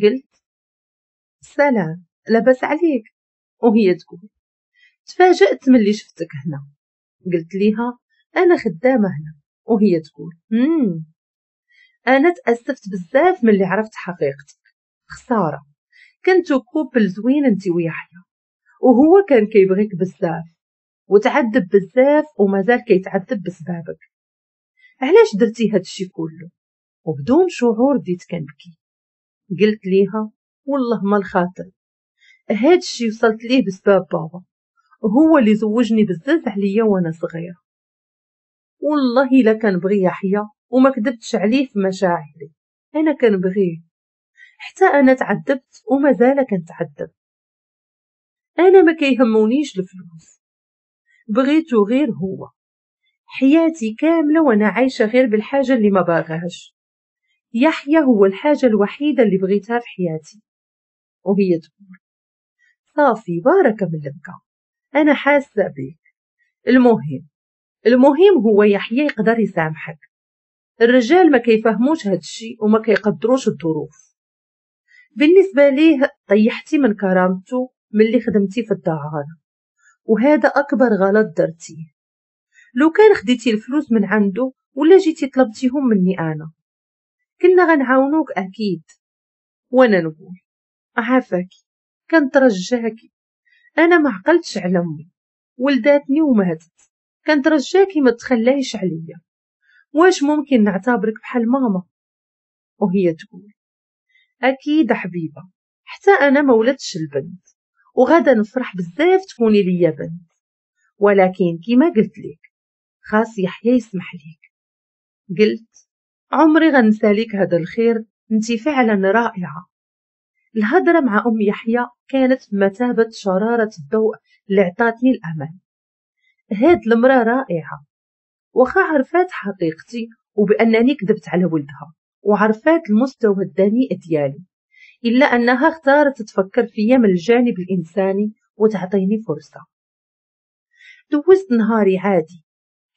قلت سلام لاباس عليك؟ وهي تقول تفاجأت ملي شفتك هنا. قلت ليها انا خدامه هنا. وهي تقول امم انا تاسفت بزاف ملي عرفت حقيقتك، خسارة كنتو couple زوين انت ويحيى، وهو كان كيبغيك بزاف وتعذب بزاف ومازال كيتعذب بسبابك، علاش درتي هادشي كله؟ وبدون شعور بديت كنبكي. قلت ليها والله ما الخاطر، هادشي وصلت ليه بسبب بابا، هو اللي زوجني بزاف عليا وانا صغيرة. والله الا كنبغي يحيى وما كذبتش عليه في مشاعري، انا كنبغيه، حتى انا تعذبت ومازال كنتعذب. انا ما كيهمونيش الفلوس، بغيتو غير هو. حياتي كاملة وانا عايشه غير بالحاجة اللي ما باغاش. يحيى هو الحاجة الوحيدة اللي بغيتها في حياتي. وهي تقول صافي باركة من البكا، أنا حاسة بك. المهم المهم هو يحيى يقدر يسامحك. الرجال ما كيفهموش هاد الشيء وما كيقدروش الظروف. بالنسبة ليه طيحتي من كرامته ملي خدمتي في الدعارة، وهذا أكبر غلط درتيه. لو كان خديتي الفلوس من عنده ولا جيتي طلبتيهم مني أنا كنا غنعاونوك أكيد. وأنا نقول عافاكي كنترجاكي، أنا ما عقلتش على أمي، ولداتني وماتت، كنترجاكي ما تخليش عليا، واش ممكن نعتبرك بحال ماما؟ وهي تقول أكيد حبيبة، حتى أنا ما ولدتش البنت وغدا نفرح بزاف تكوني ليا بنت، ولكن كما قلت لك خاص يحيى يسمح ليك. قلت عمري غنسى ليك هذا الخير، انت فعلا رائعة. الهضرة مع أم يحيى كانت بمثابة شرارة الضوء اللي عطاتني الأمل. هاد المرأة رائعة، وخا عرفات حقيقتي وبأنني كذبت على ولدها وعرفات المستوى الدنيء ديالي، إلا أنها اختارت تفكر فيا من الجانب الإنساني وتعطيني فرصة. دوزت نهاري عادي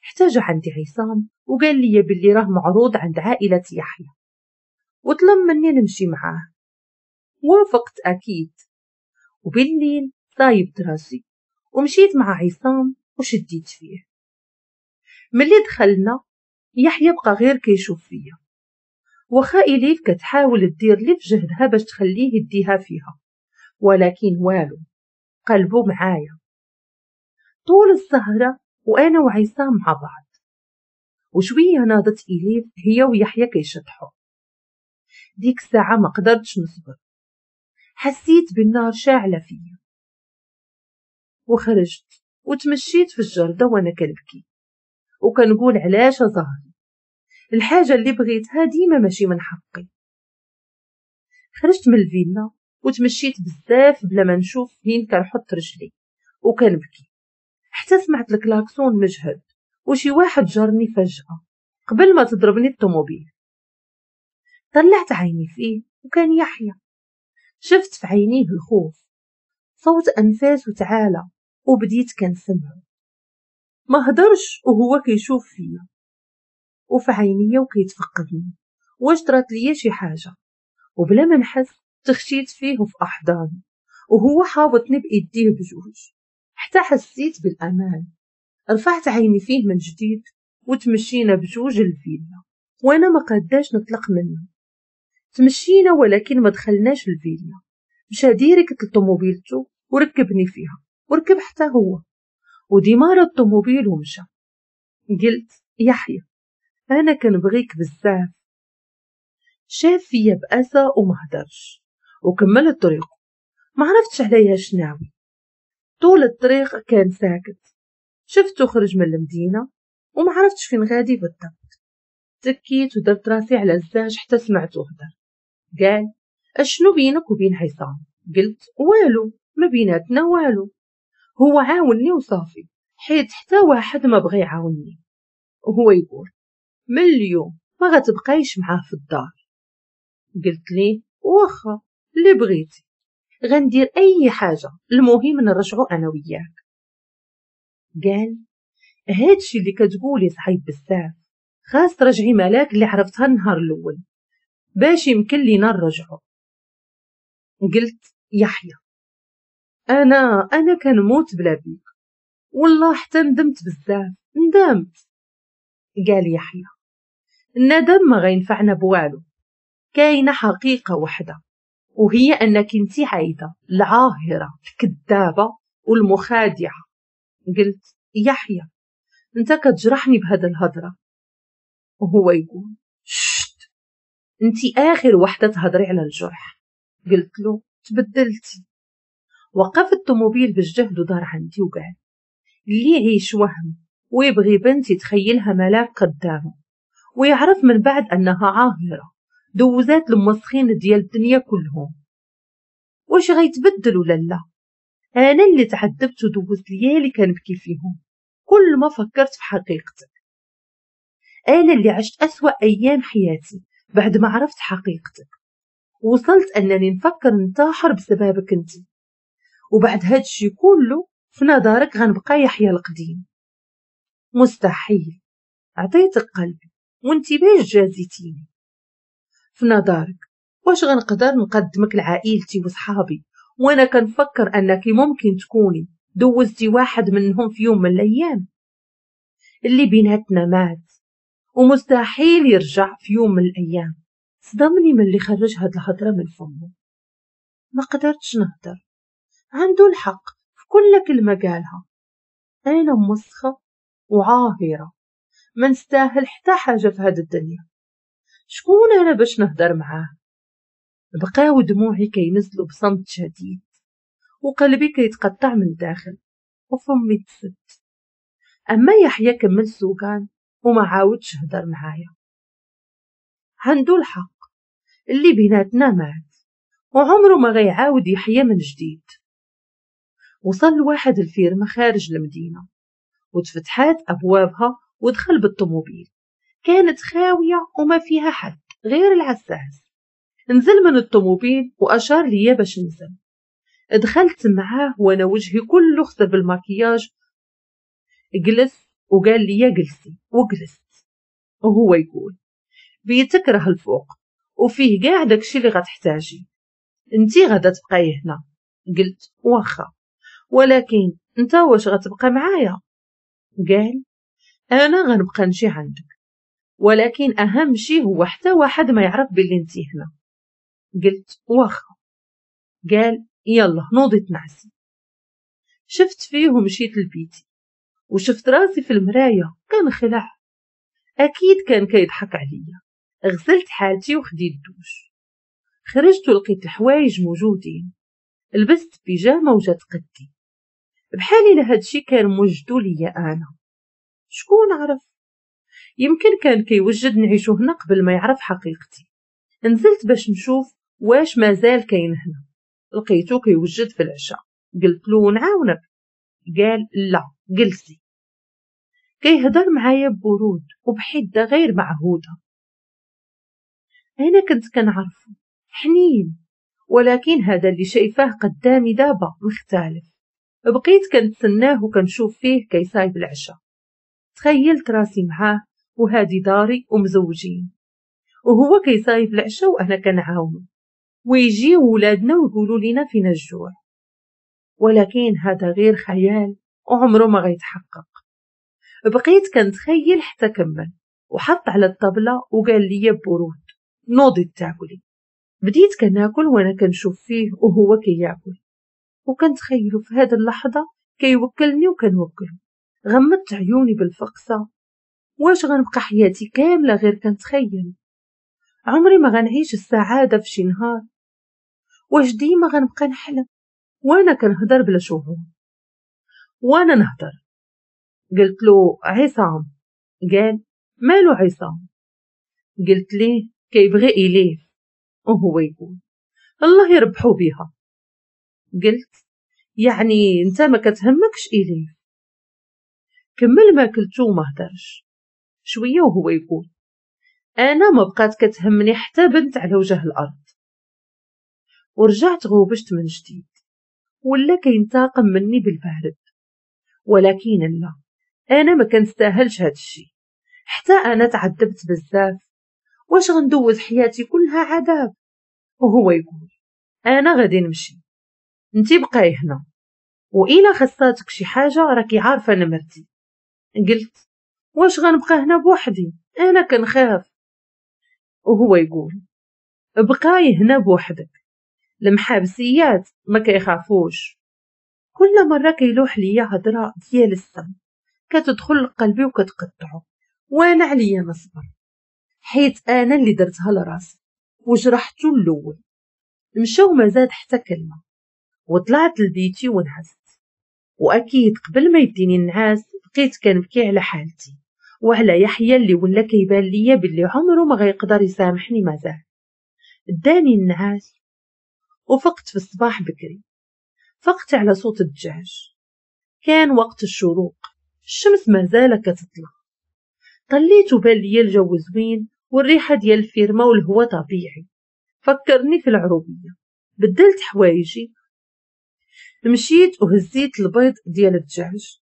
حتى جا عندي عصام وقال لي باللي راه معروض عند عائلة يحيى وطلب مني نمشي معاه. وافقت أكيد، وبالليل صايبت راسي ومشيت مع عصام وشديت فيه. ملي دخلنا يحيى بقى غير كيشوف فيا، وخا إليف كتحاول دير لي في جهدها باش تخليه يديها فيها، ولكن والو، قلبه معايا. طول السهرة وأنا وعصام مع بعض، وشوية ناضت إليف هي ويحيى كيشطحوا. ديك الساعة ما قدرتش نصبر، حسيت بالنار شاعلة فيا، وخرجت وتمشيت في الجردة وأنا كنبكي وكنقول علاش ظهري، الحاجة اللي بغيتها ديما ماشي من حقي. خرجت من الفيلا وتمشيت بزاف بلا ما نشوف فين كنحط رجلي وكنبكي، حتى سمعت الكلاكسون مجهد وشي واحد جرني فجأة قبل ما تضربني الطوموبيل. طلعت عيني فيه وكان يحيى. شفت في عينيه الخوف، صوت أنفاسه تعالى وبديت كنسمعه. ما هدرش وهو كيشوف فيا وفي عينيا وكيتفقدني واش طرات ليا شي حاجة، وبلا ما نحس تخشيت فيه وفي أحضاني وهو حاوطني بإيديه بجوج حتى حسيت بالأمان. رفعت عيني فيه من جديد وتمشينا بجوج الفيلا وانا ما قداش نطلق منه. تمشينا ولكن ما دخلناش الفيلا، مشى direct لطوموبيلته وركبني فيها وركب حتى هو وديمار الطوموبيل ومشى. قلت يحيى انا كنبغيك بزاف. شاف فيا بأسى وما هدرش وكمل الطريق. ما عرفتش عليها شناوي. طول الطريق كان ساكت. شفته خرج من المدينة وما عرفتش فين غادي بالضبط. تكيت ودرت راسي على الزاج حتى سمعته هدر. قال اشنو بينك وبين عصام؟ قلت والو، ما بيناتنا والو، هو عاوني وصافي، حيت حتى واحد ما بغى يعاونني. وهو يقول من اليوم ما غتبقايش معاه في الدار. قلت ليه واخا اللي بغيتي، غندير اي حاجه، المهم نرجعو انا وياك. قال هادشي اللي كتقولي صعيب بزاف، خاص ترجعي ملاك اللي عرفتها النهار الاول باش يمكن لينا نرجعو. قلت يحيى انا انا كنموت بلا بيك، والله حتى ندمت بزاف، ندمت. قال يحيى الندم ما غينفعنا بوالو، كاينه حقيقه وحده وهي انك انتي عايده العاهره الكذابه والمخادعه. قلت يحيى انت كتجرحني بهذا الهضره. وهو يقول شت، انتي اخر وحده تهضري على الجرح. قلت له تبدلتي. وقف الطوموبيل بالجهد ودار عندي وقال اللي يعيش وهم ويبغي بنت يتخيلها ملاك قدامه ويعرف من بعد انها عاهره دوزات المسخين ديال الدنيا كلهم، واش غيتبدل ولا لا؟ انا اللي تعذبت ودوزت ليالي كنبكي فيهم كل ما فكرت في حقيقتك. انا اللي عشت اسوأ ايام حياتي بعد ما عرفت حقيقتك. وصلت أنني نفكر ننتحر بسببك أنت، وبعد هادشي كله في نظرك غنبقى يحيى القديم؟ مستحيل. عطيتك قلبي وانت باش جازيتيني؟ في نظرك واش غنقدر نقدمك لعائلتي وصحابي وانا كنفكر انك ممكن تكوني دوزتي واحد منهم في يوم من الايام؟ اللي بيناتنا مات ومستحيل يرجع في يوم من الايام. صدمني من اللي خرج هاد الهضرة من فمه، ما قدرتش نهضر. عنده الحق في كل كلمة قالها. انا مسخه وعاهره، ما نستاهل حتى حاجة في هاد الدنيا. شكون انا باش نهضر معاه؟ بقاو دموعي كينزلوا بصمت شديد، وقلبي كيتقطع من الداخل، وفمي تسد. اما يحيى كمل سوقان وما عاودش هدر معايا. عنده الحق، اللي بيناتنا مات وعمره ما غيعاود يحيى من جديد. وصل لواحد الفيرما خارج المدينة، وتفتحات أبوابها ودخل بالطوموبيل. كانت خاوية وما فيها حد غير العساس. نزل من الطوموبيل وأشار ليا باش نزل. دخلت معاه وانا وجهي كله خسر بالماكياج. جلس وقال لي جلسي، وجلست. وهو يقول بيتك راه الفوق وفيه كاع داكشي اللي غتحتاجي، انتي غادا تبقاي هنا. قلت واخا، ولكن انت واش غتبقى معايا؟ قال انا غنبقى نجي عندك، ولكن اهم شي هو حتى واحد ما يعرف باللي انتي هنا. قلت واخا. قال يلا نوضي تنعسي. شفت فيه ومشيت لبيتي، وشفت راسي في المراية كنخلع. اكيد كان كيضحك عليا. غسلت حالتي وخديت دوش. خرجت ولقيت الحوايج موجودين. لبست بيجامه وجات قدي، بحال الا هادشي كان موجدو ليا انا. شكون عرف؟ يمكن كان كيوجد نعيشو هنا قبل ما يعرف حقيقتي. نزلت باش نشوف واش مازال كاين هنا. لقيتو كيوجد في العشاء. قلت له نعاونك؟ قال لا جلسي. كيهضر معايا ببرود وبحده غير معهوده. انا كنت كنعرفو حنين، ولكن هذا اللي شايفاه قدامي دابا مختلف. بقيت كنتسناه وكنشوف فيه كيصايب العشاء. تخيلت راسي معاه وهادي داري ومزوجين، وهو كيصايب العشاء وانا كنعاونو، ويجيو ولادنا ويقولوا لينا فينا الجوع. ولكن هذا غير خيال وعمره ما غيتحقق. بقيت كنتخيل حتى كمل وحط على الطبلة وقال لي ببرود نوضي تاكلي. بديت كناكل وانا كنشوف فيه وهو كياكل، وكنتخيلو في هذه اللحظة كيوكلني وكنوكلو. غمضت عيوني بالفقصه. واش غنبقى حياتي كاملة غير كنتخيل؟ عمري ما غنعيش السعادة في شي نهار. واش ديما غنبقى نحلم وانا كنهضر بلا شعور؟ وانا نهضر قلت له عصام. قال مالو عصام؟ قلت ليه كيبغي إليف. وهو يقول الله يربحو بيها. قلت يعني انت ما كتهمكش إليف؟ كمل ما كلتو وما هدرش شوية وهو يقول انا ما بقات كتهمني حتى بنت على وجه الارض. ورجعت غوبشت من جديد، ولا كينتقم مني بالبارد. ولكن لا، انا ما كنستاهلش هاد الشيء. حتى انا تعذبت بزاف. واش غندوز حياتي كلها عذاب؟ وهو يقول انا غادي نمشي، انتي بقاي هنا، والا خصاتك شي حاجة راكي عارفه نمرتي. قلت واش غنبقى هنا بوحدي؟ انا كنخاف. وهو يقول بقاي هنا بوحدك، المحابسيات ما كيخافوش. كل مرة كيلوح ليا هضره ديال السم كتدخل لقلبي وكتقطعو، وانا عليا نصبر حيت انا اللي درتها لراسي وجرحتو الاول. مشى وما زاد حتى كلمة، وطلعت لبيتي ونعست. واكيد قبل ما يديني النعاس بقيت كنبكي على حالتي وعلى يحيى اللي ولا كيبان ليا باللي عمره ما غيقدر يسامحني مازال. داني النعاس وفقت في الصباح بكري. فقت على صوت الدجاج. كان وقت الشروق، الشمس مازال كتطلع. طليت وبان ليا الجو زوين والريحة ديال الفيرما والهواء طبيعي، فكرني في العروبية. بدلت حوايجي، مشيت وهزيت البيض ديال الدجاج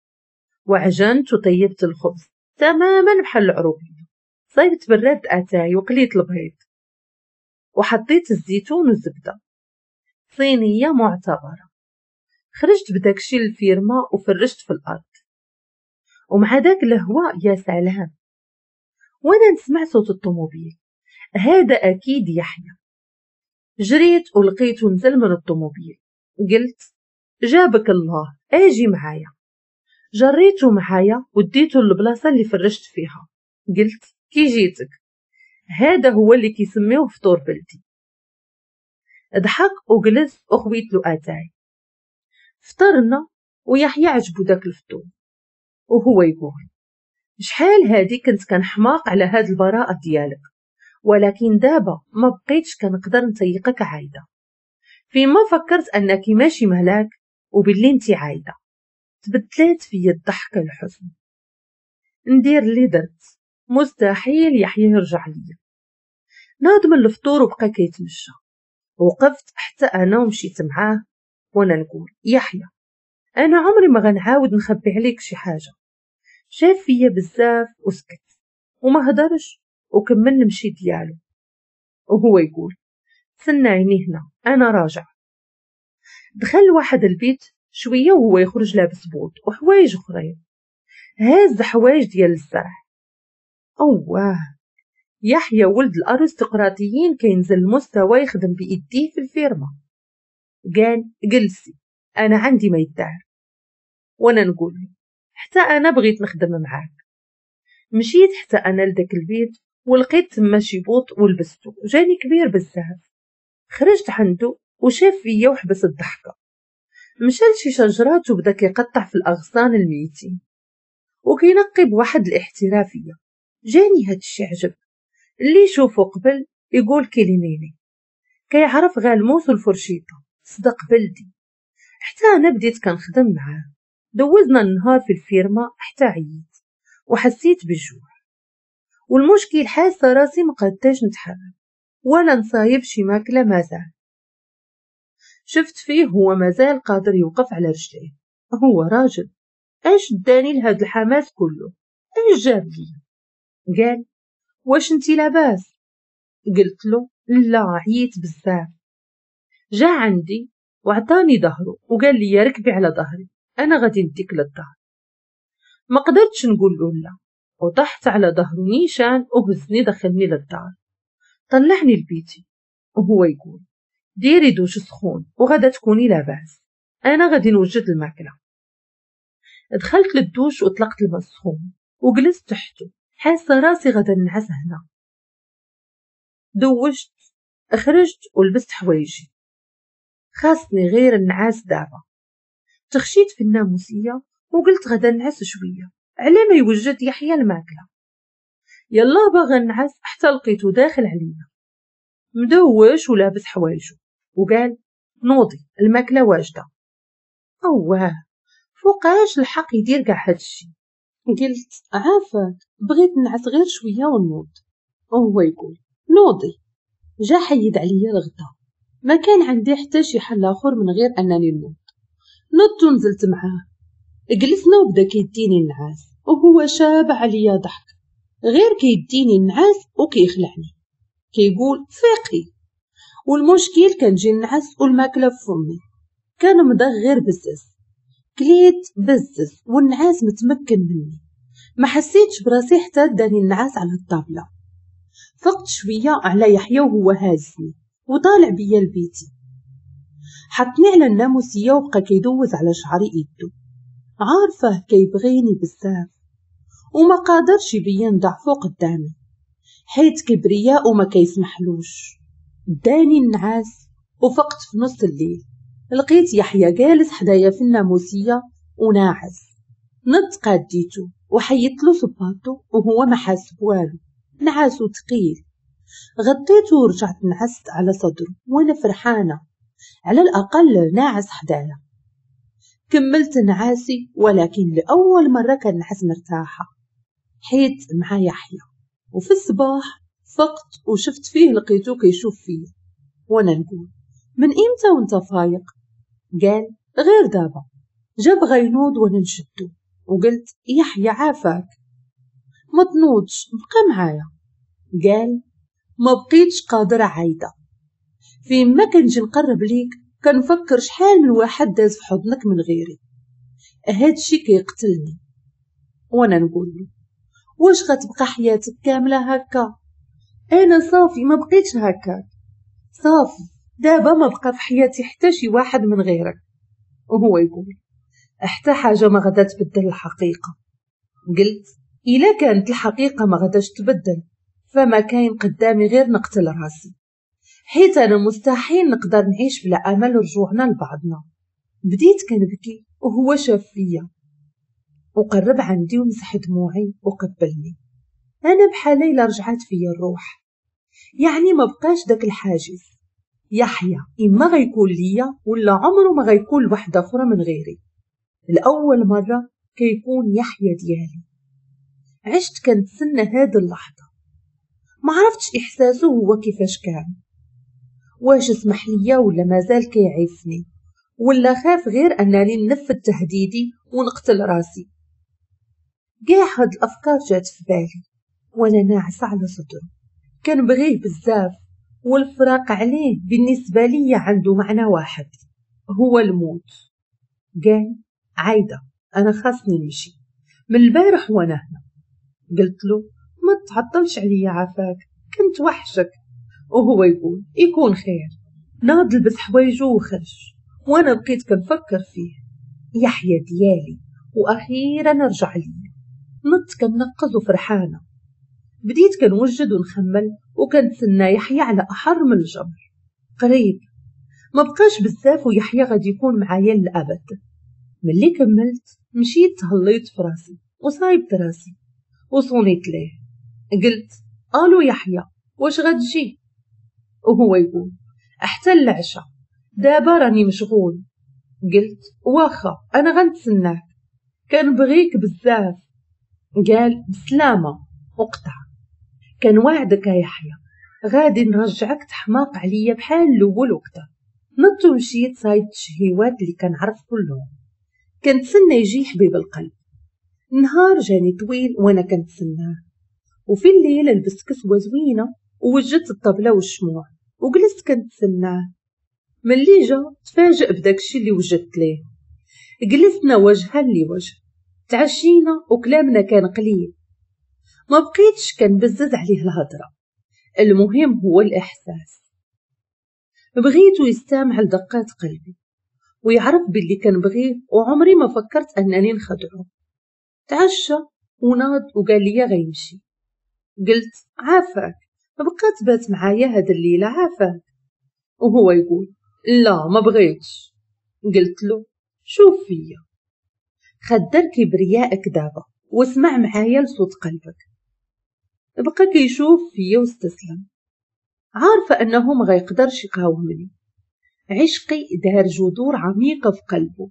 وعجنت وطيبت الخبز تماما بحال العروبية. صايبت براد اتاي وقليت البيض وحطيت الزيتون والزبدة، صينية معتبرة. خرجت بداكشي للفيرما وفرشت في الأرض، ومع داك الهواء يا سلام. وانا نسمع صوت الطوموبيل، هذا أكيد يحيى. جريت ولقيته نزل من الطوموبيل، قلت جابك الله اجي معايا. جريته معايا وديته للبلاصة اللي فرشت فيها، قلت كي جيتك، هذا هو اللي كيسميوه فطور بلدي. ضحك وجلس وخويت له اتاي. فطرنا ويحيى عجبو داك الفطور، وهو يقول شحال هادي كنت كنحماق على هاد البراءة ديالك، ولكن دابا ما بقيتش كنقدر نطيقك عايدة. فيما فكرت انك ماشي ملاك وباللي انت عايدة، تبدلات فيا الضحكة الحزن. ندير اللي درت، مستحيل يحيى يرجع ليا. ناض من الفطور وبقى كيتمشى، وقفت حتى انا ومشيت معاه وانا نقول يحيى انا عمري ما غنعاود نخبي عليك شي حاجة. شاف فيا بزاف وسكت وما هدرش وكمل نمشي ديالو، وهو يقول تسنايني هنا انا راجع. دخل واحد البيت شوية وهو يخرج لابس بوط وحوايج اخرين، هاز حوايج ديال الزرع. اوه يحيى ولد الارستقراطيين كينزل المستوى يخدم بايديه في الفيرما. قال جلسي انا عندي ما يدار، وانا نقول حتى انا بغيت نخدم معاك. مشيت حتى انا لداك البيت ولقيت تما شي بوط ولبستو، جاني كبير بزاف. خرجت عنده وشاف فيا وحبس الضحكة. مشى لشي شجرات وبدا كيقطع في الاغصان الميتين وكينقي بواحد الاحترافية. جاني هادشي عجب، اللي يشوفو قبل يقول كيليميني، كيعرف غير الموس والفرشيطه، صدق بلدي. حتى انا بديت كنخدم معاه. دوزنا النهار في الفيرما حتى عييت وحسيت بالجوع، والمشكل حاسه راسي ما قداش نتحرك ولا نصايب شي ماكله. مازال شفت فيه هو مازال قادر يوقف على رجليه، هو راجل. اش داني لهاد الحماس كله؟ اش جاب لي؟ قال واش انتي لاباس؟ قلت له لا عييت بزاف. جا عندي وعطاني ظهره وقال لي ركبي على ظهري انا غادي نديك للدار. ما قدرتش نقول له لا، وطحت على ظهره نيشان وهزني دخلني للدار. طلعني لبيتي وهو يقول ديري دوش سخون وغدا تكوني لاباس، انا غادي نوجد الماكلة. دخلت للدوش وطلقت الماء السخون وجلست تحته، حاسه راسي غدا نعس هنا. دوشت خرجت ولبست حوايجي، خاصني غير النعاس دابا. تخشيت في الناموسيه وقلت غدا نعس شوية على ما يوجد يحيى الماكلة. يلا باغا نعس حتى لقيته داخل عليا مدوش ولابس حوايجو وقال نوضي الماكلة واجدة. اوه فوقاش الحق يدير كاع هادشي؟ قلت عافاك بغيت نعس غير شوية ونوض. وهو يقول نوضي. جا حيد عليا الغدا، ما كان عندي حتى شي حل اخر من غير انني نوض. نضت ونزلت معاه، جلسنا وبدا كيديني النعاس وهو شابع عليا ضحك، غير كيديني النعاس وكيخلعني كيقول فيقي. والمشكل كنجي النعاس والماكله في فمي، كان مضغ غير بزز، كليت بزز والنعاس متمكن مني. ما حسيتش براسي حتى داني النعاس على الطابله. فقت شوية على يحيى وهو هازني وطالع بيا لبيتي. حطني على الناموسيه وبقى كيدوز على شعري ايدو، عارفه كيبغيني بزاف وما قادرش يبين ضعفو قدامي حيت كبرياء وما كيسمحلوش. داني النعاس وفقت في نص الليل، لقيت يحيى جالس حدايا في الناموسيه وناعس. نضت قاديتو وحيدت له صباطو وهو ما حاس بوالو، نعاسو ثقيل. غطيته ورجعت نعست على صدره وانا فرحانة، على الاقل ناعس حدايا. كملت نعاسي ولكن لاول مرة كنعس مرتاحة حيت مع يحيى. وفي الصباح فقت وشفت فيه لقيتو كيشوف فيا، وانا نقول من امتى وانت فايق؟ قال غير دابا. جا بغا ينوض وانا نشدو وقلت يحيى عافاك ما تنوضش، بقى معايا. قال ما بقيتش قادرة عايدة، فيما كنجي نقرب ليك كنفكر شحال من واحد داز في حضنك من غيري، هادشي كيقتلني. وانا نقول له واش غتبقى حياتك كاملة هكا؟ انا صافي ما بقيتش هكاك، صافي دابا ما بقى في حياتي حتى شي واحد من غيرك. وهو يقول حتى حاجة ما غادا تبدل الحقيقة. قلت الا كانت الحقيقة ما غاداش تبدل فما كاين قدامي غير نقتل راسي، حيت انا مستحيل نقدر نعيش بلا امل رجوعنا لبعضنا. بديت كنبكي وهو شاف فيا وقرب عندي ومسح دموعي وقبلني. انا بحال الا رجعت فيا الروح، يعني ما بقاش داك الحاجز. يحيى اما غيكون ليا ولا عمره ما غيكون لوحده اخرى من غيري. الاول مرة كيكون يحيى ديالي. عشت كنتسنى هاد اللحظة، ما عرفتش احساسه هو كيفاش كان، واش سمح ليا ولا مازال كيعيفني، ولا خاف غير انني ننفذ تهديدي ونقتل راسي. كاع هاد الافكار جات في بالي وانا ناعسه على صدره. كنبغيه بزاف، والفراق عليه بالنسبة لي عنده معنى واحد هو الموت. قال عايدة انا خاصني نمشي، من البارح وانا هنا. قلت له ما تعطلش عليا عافاك، كنت وحشك. وهو يقول يكون خير. ناض لبس حوايجو وخرج، وانا بقيت كنفكر فيه. يحيى ديالي واخيرا رجع لي. نط كنقز وفرحانه. بديت كنوجد ونخمل وكنتسنى يحيى على احر من الجمر. قريب ما بقاش بزاف ويحيى غادي يكون معايا للابد. ملي كملت مشيت تهليت في راسي وصايبت راسي وصونيت ليه. قلت الو يحيى واش غتجي؟ وهو يقول حتى العشاء دابا راني مشغول. قلت واخا انا غنتسناك، كنبغيك بزاف. قال بسلامه وقطع. كان وعدك يا يحيى غادي نرجعك تحماق عليا بحال الاول وكذا. نط ومشيت صايبت الشهيوات اللي كنعرف كلهم. كنتسنى يجي حبيب القلب. النهار جاني طويل وانا كنتسناه. وفي الليل لبست كسوه زوينة ووجدت الطبلة والشموع وجلست كنتسناه. ملي جا تفاجئ بداكشي اللي وجدت ليه. جلسنا وجها لوجه، تعشينا وكلامنا كان قليل. ما بقيتش كنبزز عليه الهضرة، المهم هو الاحساس. بغيته يستمع لدقات قلبي ويعرف باللي كنبغيه، وعمري ما فكرت انني نخدعه. تعشى وناض وقال لي غيمشي. قلت عافاك بقى تبات معايا هاد الليلة عافاك. وهو يقول لا ما بغيتش. قلت له شوف فيا، خدر كبريائك دابا واسمع معايا لصوت قلبك. بقى كيشوف فيا واستسلم، عارفه انه ما غيقدرش يقاومني. عشقي دار جذور عميقة في قلبه،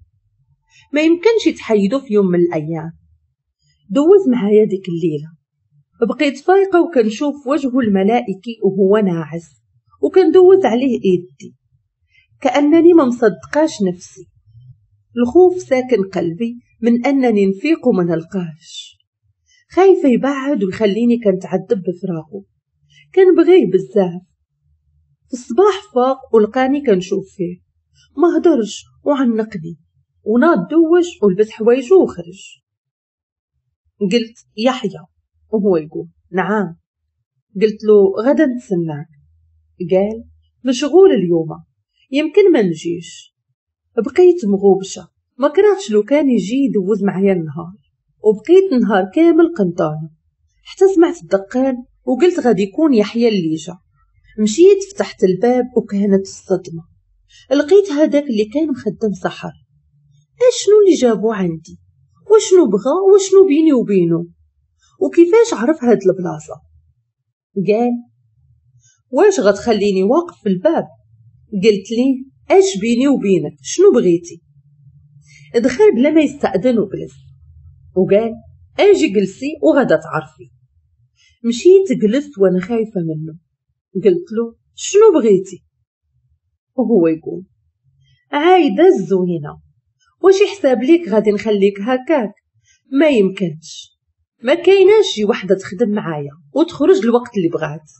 ما يمكنش يتحيدو في يوم من الايام. دوز معايا ديك الليلة، بقيت فايقه وكنشوف وجهه الملائكي وهو ناعس، وكندوز عليه ايدي كانني ما مصدقاش نفسي. الخوف ساكن قلبي من انني نفيق وما نلقاهش، خايفة يبعد ويخليني كنتعذب بفراقه. كنبغيه بزاف. في الصباح فاق ولقاني كنشوف فيه، ما هدرش وعنقني وناض دوش ولبس حوايجو وخرج. قلت يحيى، وهو يقول نعم. قلت له غدا نتسناك. قال مشغول اليوم يمكن ما نجيش. بقيت مغوبشه، ما كرهتش لو كان يجي يدوز معايا النهار، وبقيت نهار كامل قنطانه حتى سمعت الدقان وقلت غادي يكون يحيى اللي جا. مشيت فتحت الباب وكانت الصدمة، لقيت هذاك اللي كان مخدم سحر. اشنو اللي جابو عندي؟ وشنو بغى؟ وشنو بيني وبينه؟ وكيفاش عرف هاد البلاصة؟ قال واش غتخليني واقف في الباب؟ قلت ليه اش بيني وبينك، شنو بغيتي؟ دخل بلا ما يستأذن وجلس وقال اجي جلسي وغدا تعرفي. مشيت جلست وانا خايفة منه، قلت له شنو بغيتي؟ وهو يقول عايدة الزوينة، واش يحساب ليك غادي نخليك هكاك؟ ما يمكنش، ما كايناش شي وحده تخدم معايا وتخرج الوقت اللي بغات،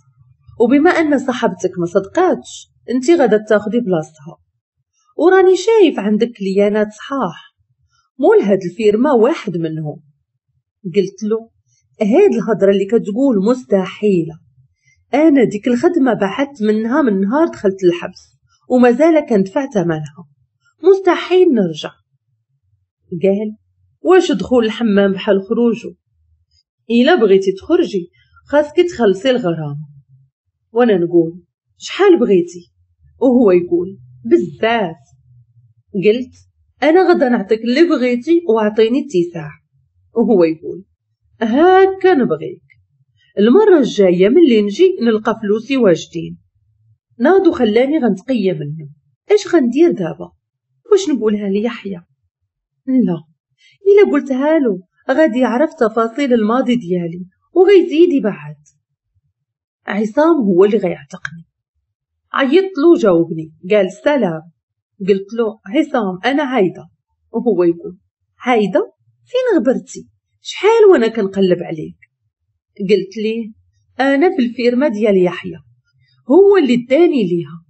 وبما ان صاحبتك ما صدقاتش انت غادا تاخدي بلاصتها، وراني شايف عندك كليانات صحاح، مول هاد الفيرما واحد منهم. قلت له هاد الهضرة اللي كتقول مستحيلة، انا ديك الخدمة بعدت منها من نهار دخلت الحبس ومازال كندفع ثمنها، مستحيل نرجع. قال واش دخول الحمام بحال خروجه؟ الا بغيتي تخرجي خاصك تخلصي الغرامة. وانا نقول شحال بغيتي؟ وهو يقول بزاف. قلت انا غدا نعطيك اللي بغيتي واعطيني اتساع. وهو يقول هاكا نبغيك، المرة الجاية ملي نجي نلقى فلوسي واجدين. ناض وخلاني غنتقيه منه. اش غندير دابا؟ واش نقولها ليحيى؟ لا، الا قلتها له غادي يعرف تفاصيل الماضي ديالي وغيزيد يبعد. عصام هو اللي غيعتقني. عيطت له جاوبني، قال سلام. قلت له عصام انا عايدة. وهو يقول عايدة فين غبرتي؟ شحال وانا كنقلب عليك. قلت ليه انا في الفيرما ديال يحيى، هو اللي اداني ليها.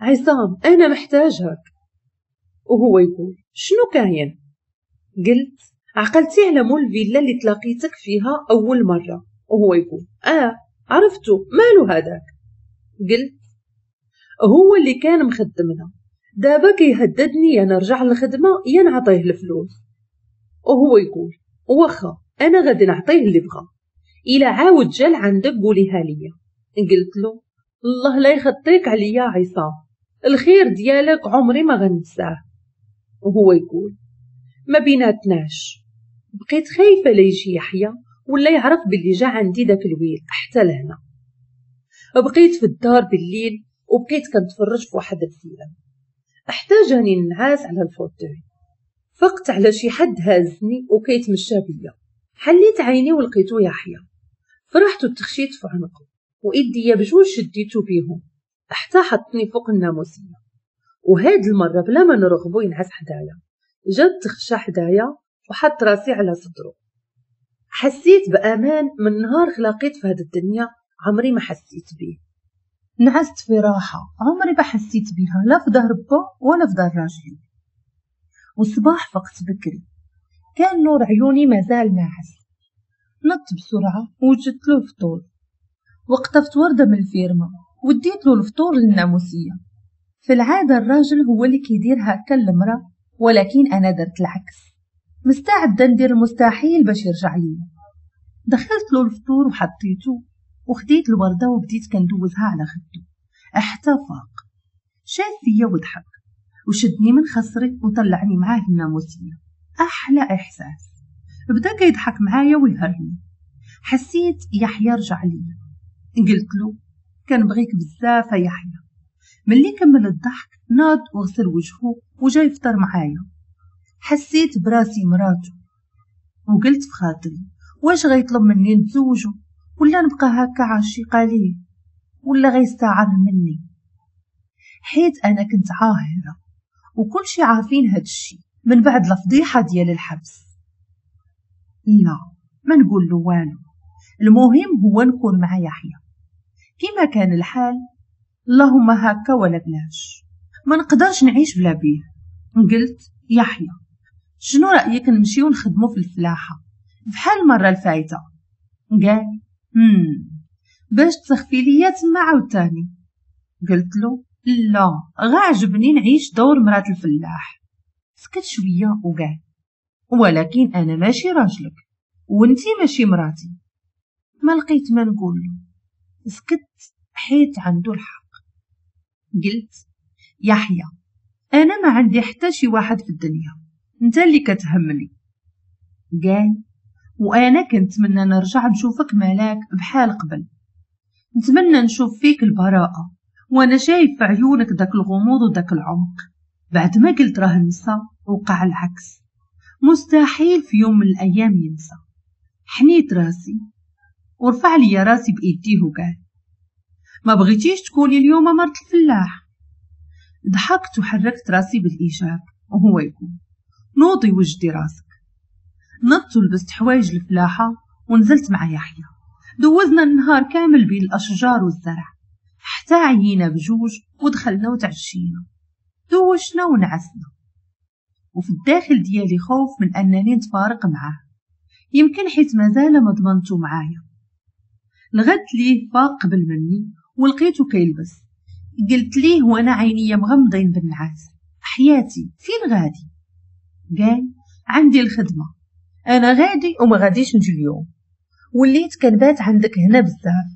عصام انا محتاجك. وهو يقول شنو كاين؟ قلت عقلتي على مول الفيلا اللي تلاقيتك فيها اول مرة؟ وهو يقول اه عرفتو، مالو هذاك؟ قلت هو اللي كان مخدمنا، دابا كيهددني يا نرجع للخدمة يا نعطيه الفلوس. وهو يقول واخا انا غادي نعطيه اللي بغا، الا عاود جا لعندك قوليها ليا. قلت له الله لا يخطيك عليا عصام، الخير ديالك عمري ما غنساه. وهو يقول ما بيناتناش. بقيت خايفة لا يجي يحيى ولا يعرف باللي جا عندي داك الويل حتى لهنا. بقيت في الدار بالليل وبقيت كنتفرج في واحد الفيلم، حتى جاني النعاس على ال fauteuil. فقت على شي حد هازني وكيتمشى بيا. حليت عيني ولقيتو يحيى. فرحت وتخشيت في عنقه وايديا بجوج شديتو بيهم حتى حطني فوق الناموسيه. وهاد المرة بلا ما نرغبو ينعس حدايا، جات تخشى حدايا وحط راسي على صدره. حسيت بامان من نهار خلاقيت في هاد الدنيا عمري ما حسيت بيه. نعست في راحة عمري ما حسيت بيها، لا في دار با ولا في دار راجلي. والصباح فقت بكري، كان نور عيوني مازال ناعس. نط بسرعة وجدت له الفطور، وقطفت ورده من الفيرما وديت له الفطور للناموسيه. في العادة الراجل هو اللي كيدير هكا للمراة، ولكن انا درت العكس، مستعدة ندير المستحيل باش يرجع لي. دخلت له الفطور وحطيته وخديت الورده وبديت كندوزها على خده حتى فاق. شاف فيا وضحك وشدني من خصري وطلعني معاه للناموسيه. احلى احساس. بدا كيضحك معايا ويهرني. حسيت يحيى رجع لي. قلت له كنبغيك بزاف يا يحيى. ملي كمل الضحك ناض وغسل وجهه وجاي يفطر معايا. حسيت براسي مراته وقلت في خاطري واش غيطلب مني نتزوجو ولا نبقى هكا عاشقه ليه ولا غيستعر مني، حيت انا كنت عاهره وكل شي عارفين هاد الشي من بعد الفضيحة ديال الحبس. لا ما نقول له والو، المهم هو نكون مع يحيى كما كان الحال، اللهم هكا ولا بلاش، ما نقدرش نعيش بلا بيه. قلت يحيى شنو رايك نمشيو نخدمو في الفلاحة بحال المرة الفايته؟ قال امم باش تسخفي ليا تما عاوتاني. قلت له لا، غا عجبني نعيش دور مرات الفلاح. سكت شوية وقال ولكن انا ماشي راجلك وانتي ماشي مراتي. ما لقيت ما نقول له، سكت حيت عنده الحق. قلت يحيى انا ما عندي حتى شي واحد في الدنيا، انت اللي كتهمني. قال وانا كنتمنى نرجع نشوفك ملاك بحال قبل، نتمنى نشوف فيك البراءة وانا شايف في عيونك داك الغموض وداك العمق. بعد ما قلت راه نسى وقع العكس، مستحيل في يوم من الايام ينسى. حنيت راسي ورفع لي راسي بايديه وقال ما بغيتيش تكوني اليوم مرت الفلاح؟ ضحكت وحركت راسي بالايجاب وهو يقول نوضي وجدي راسك. نضت ولبست حوايج الفلاحة ونزلت مع يحيى. دوزنا النهار كامل بين الاشجار والزرع حتى عيينا بجوج ودخلنا وتعشينا، دوشنا ونعسنا. وفي الداخل ديالي خوف من انني نتفارق معاه، يمكن حيت مازال ما ضمنتو معايا. لغت ليه فاق قبل مني ولقيته كيلبس. قلت ليه وانا عينيا مغمضين بالنعاس حياتي فين غادي؟ قال عندي الخدمة، انا غادي وما غاديش نجي اليوم، وليت كنبات عندك هنا بزاف،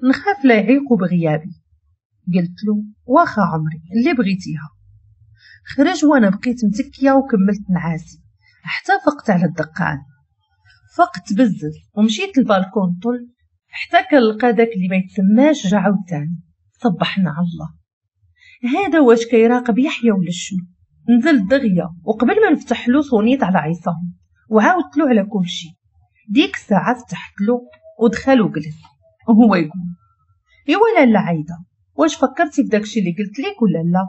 نخاف لا يعيقوا بغيابي. قلت له واخا عمري اللي بغيتيها. خرج وانا بقيت متكيه وكملت نعاسي حتى فقت على الدقان. فقت بزز ومشيت للبالكون طل حتى كنلقى داك اللي ما يتسماش جا عاوتاني. صبحنا على الله، هذا واش كيراقب يحيى ولا شنو؟ نزلت دغيا وقبل ما نفتح له صونيت على عصام وعاودت له على كل شيء. ديك الساعة فتحت له ودخل وجلس وهو يقول ايوا لاله عايدة واش فكرتي في داكشي اللي قلت لك ولا لا؟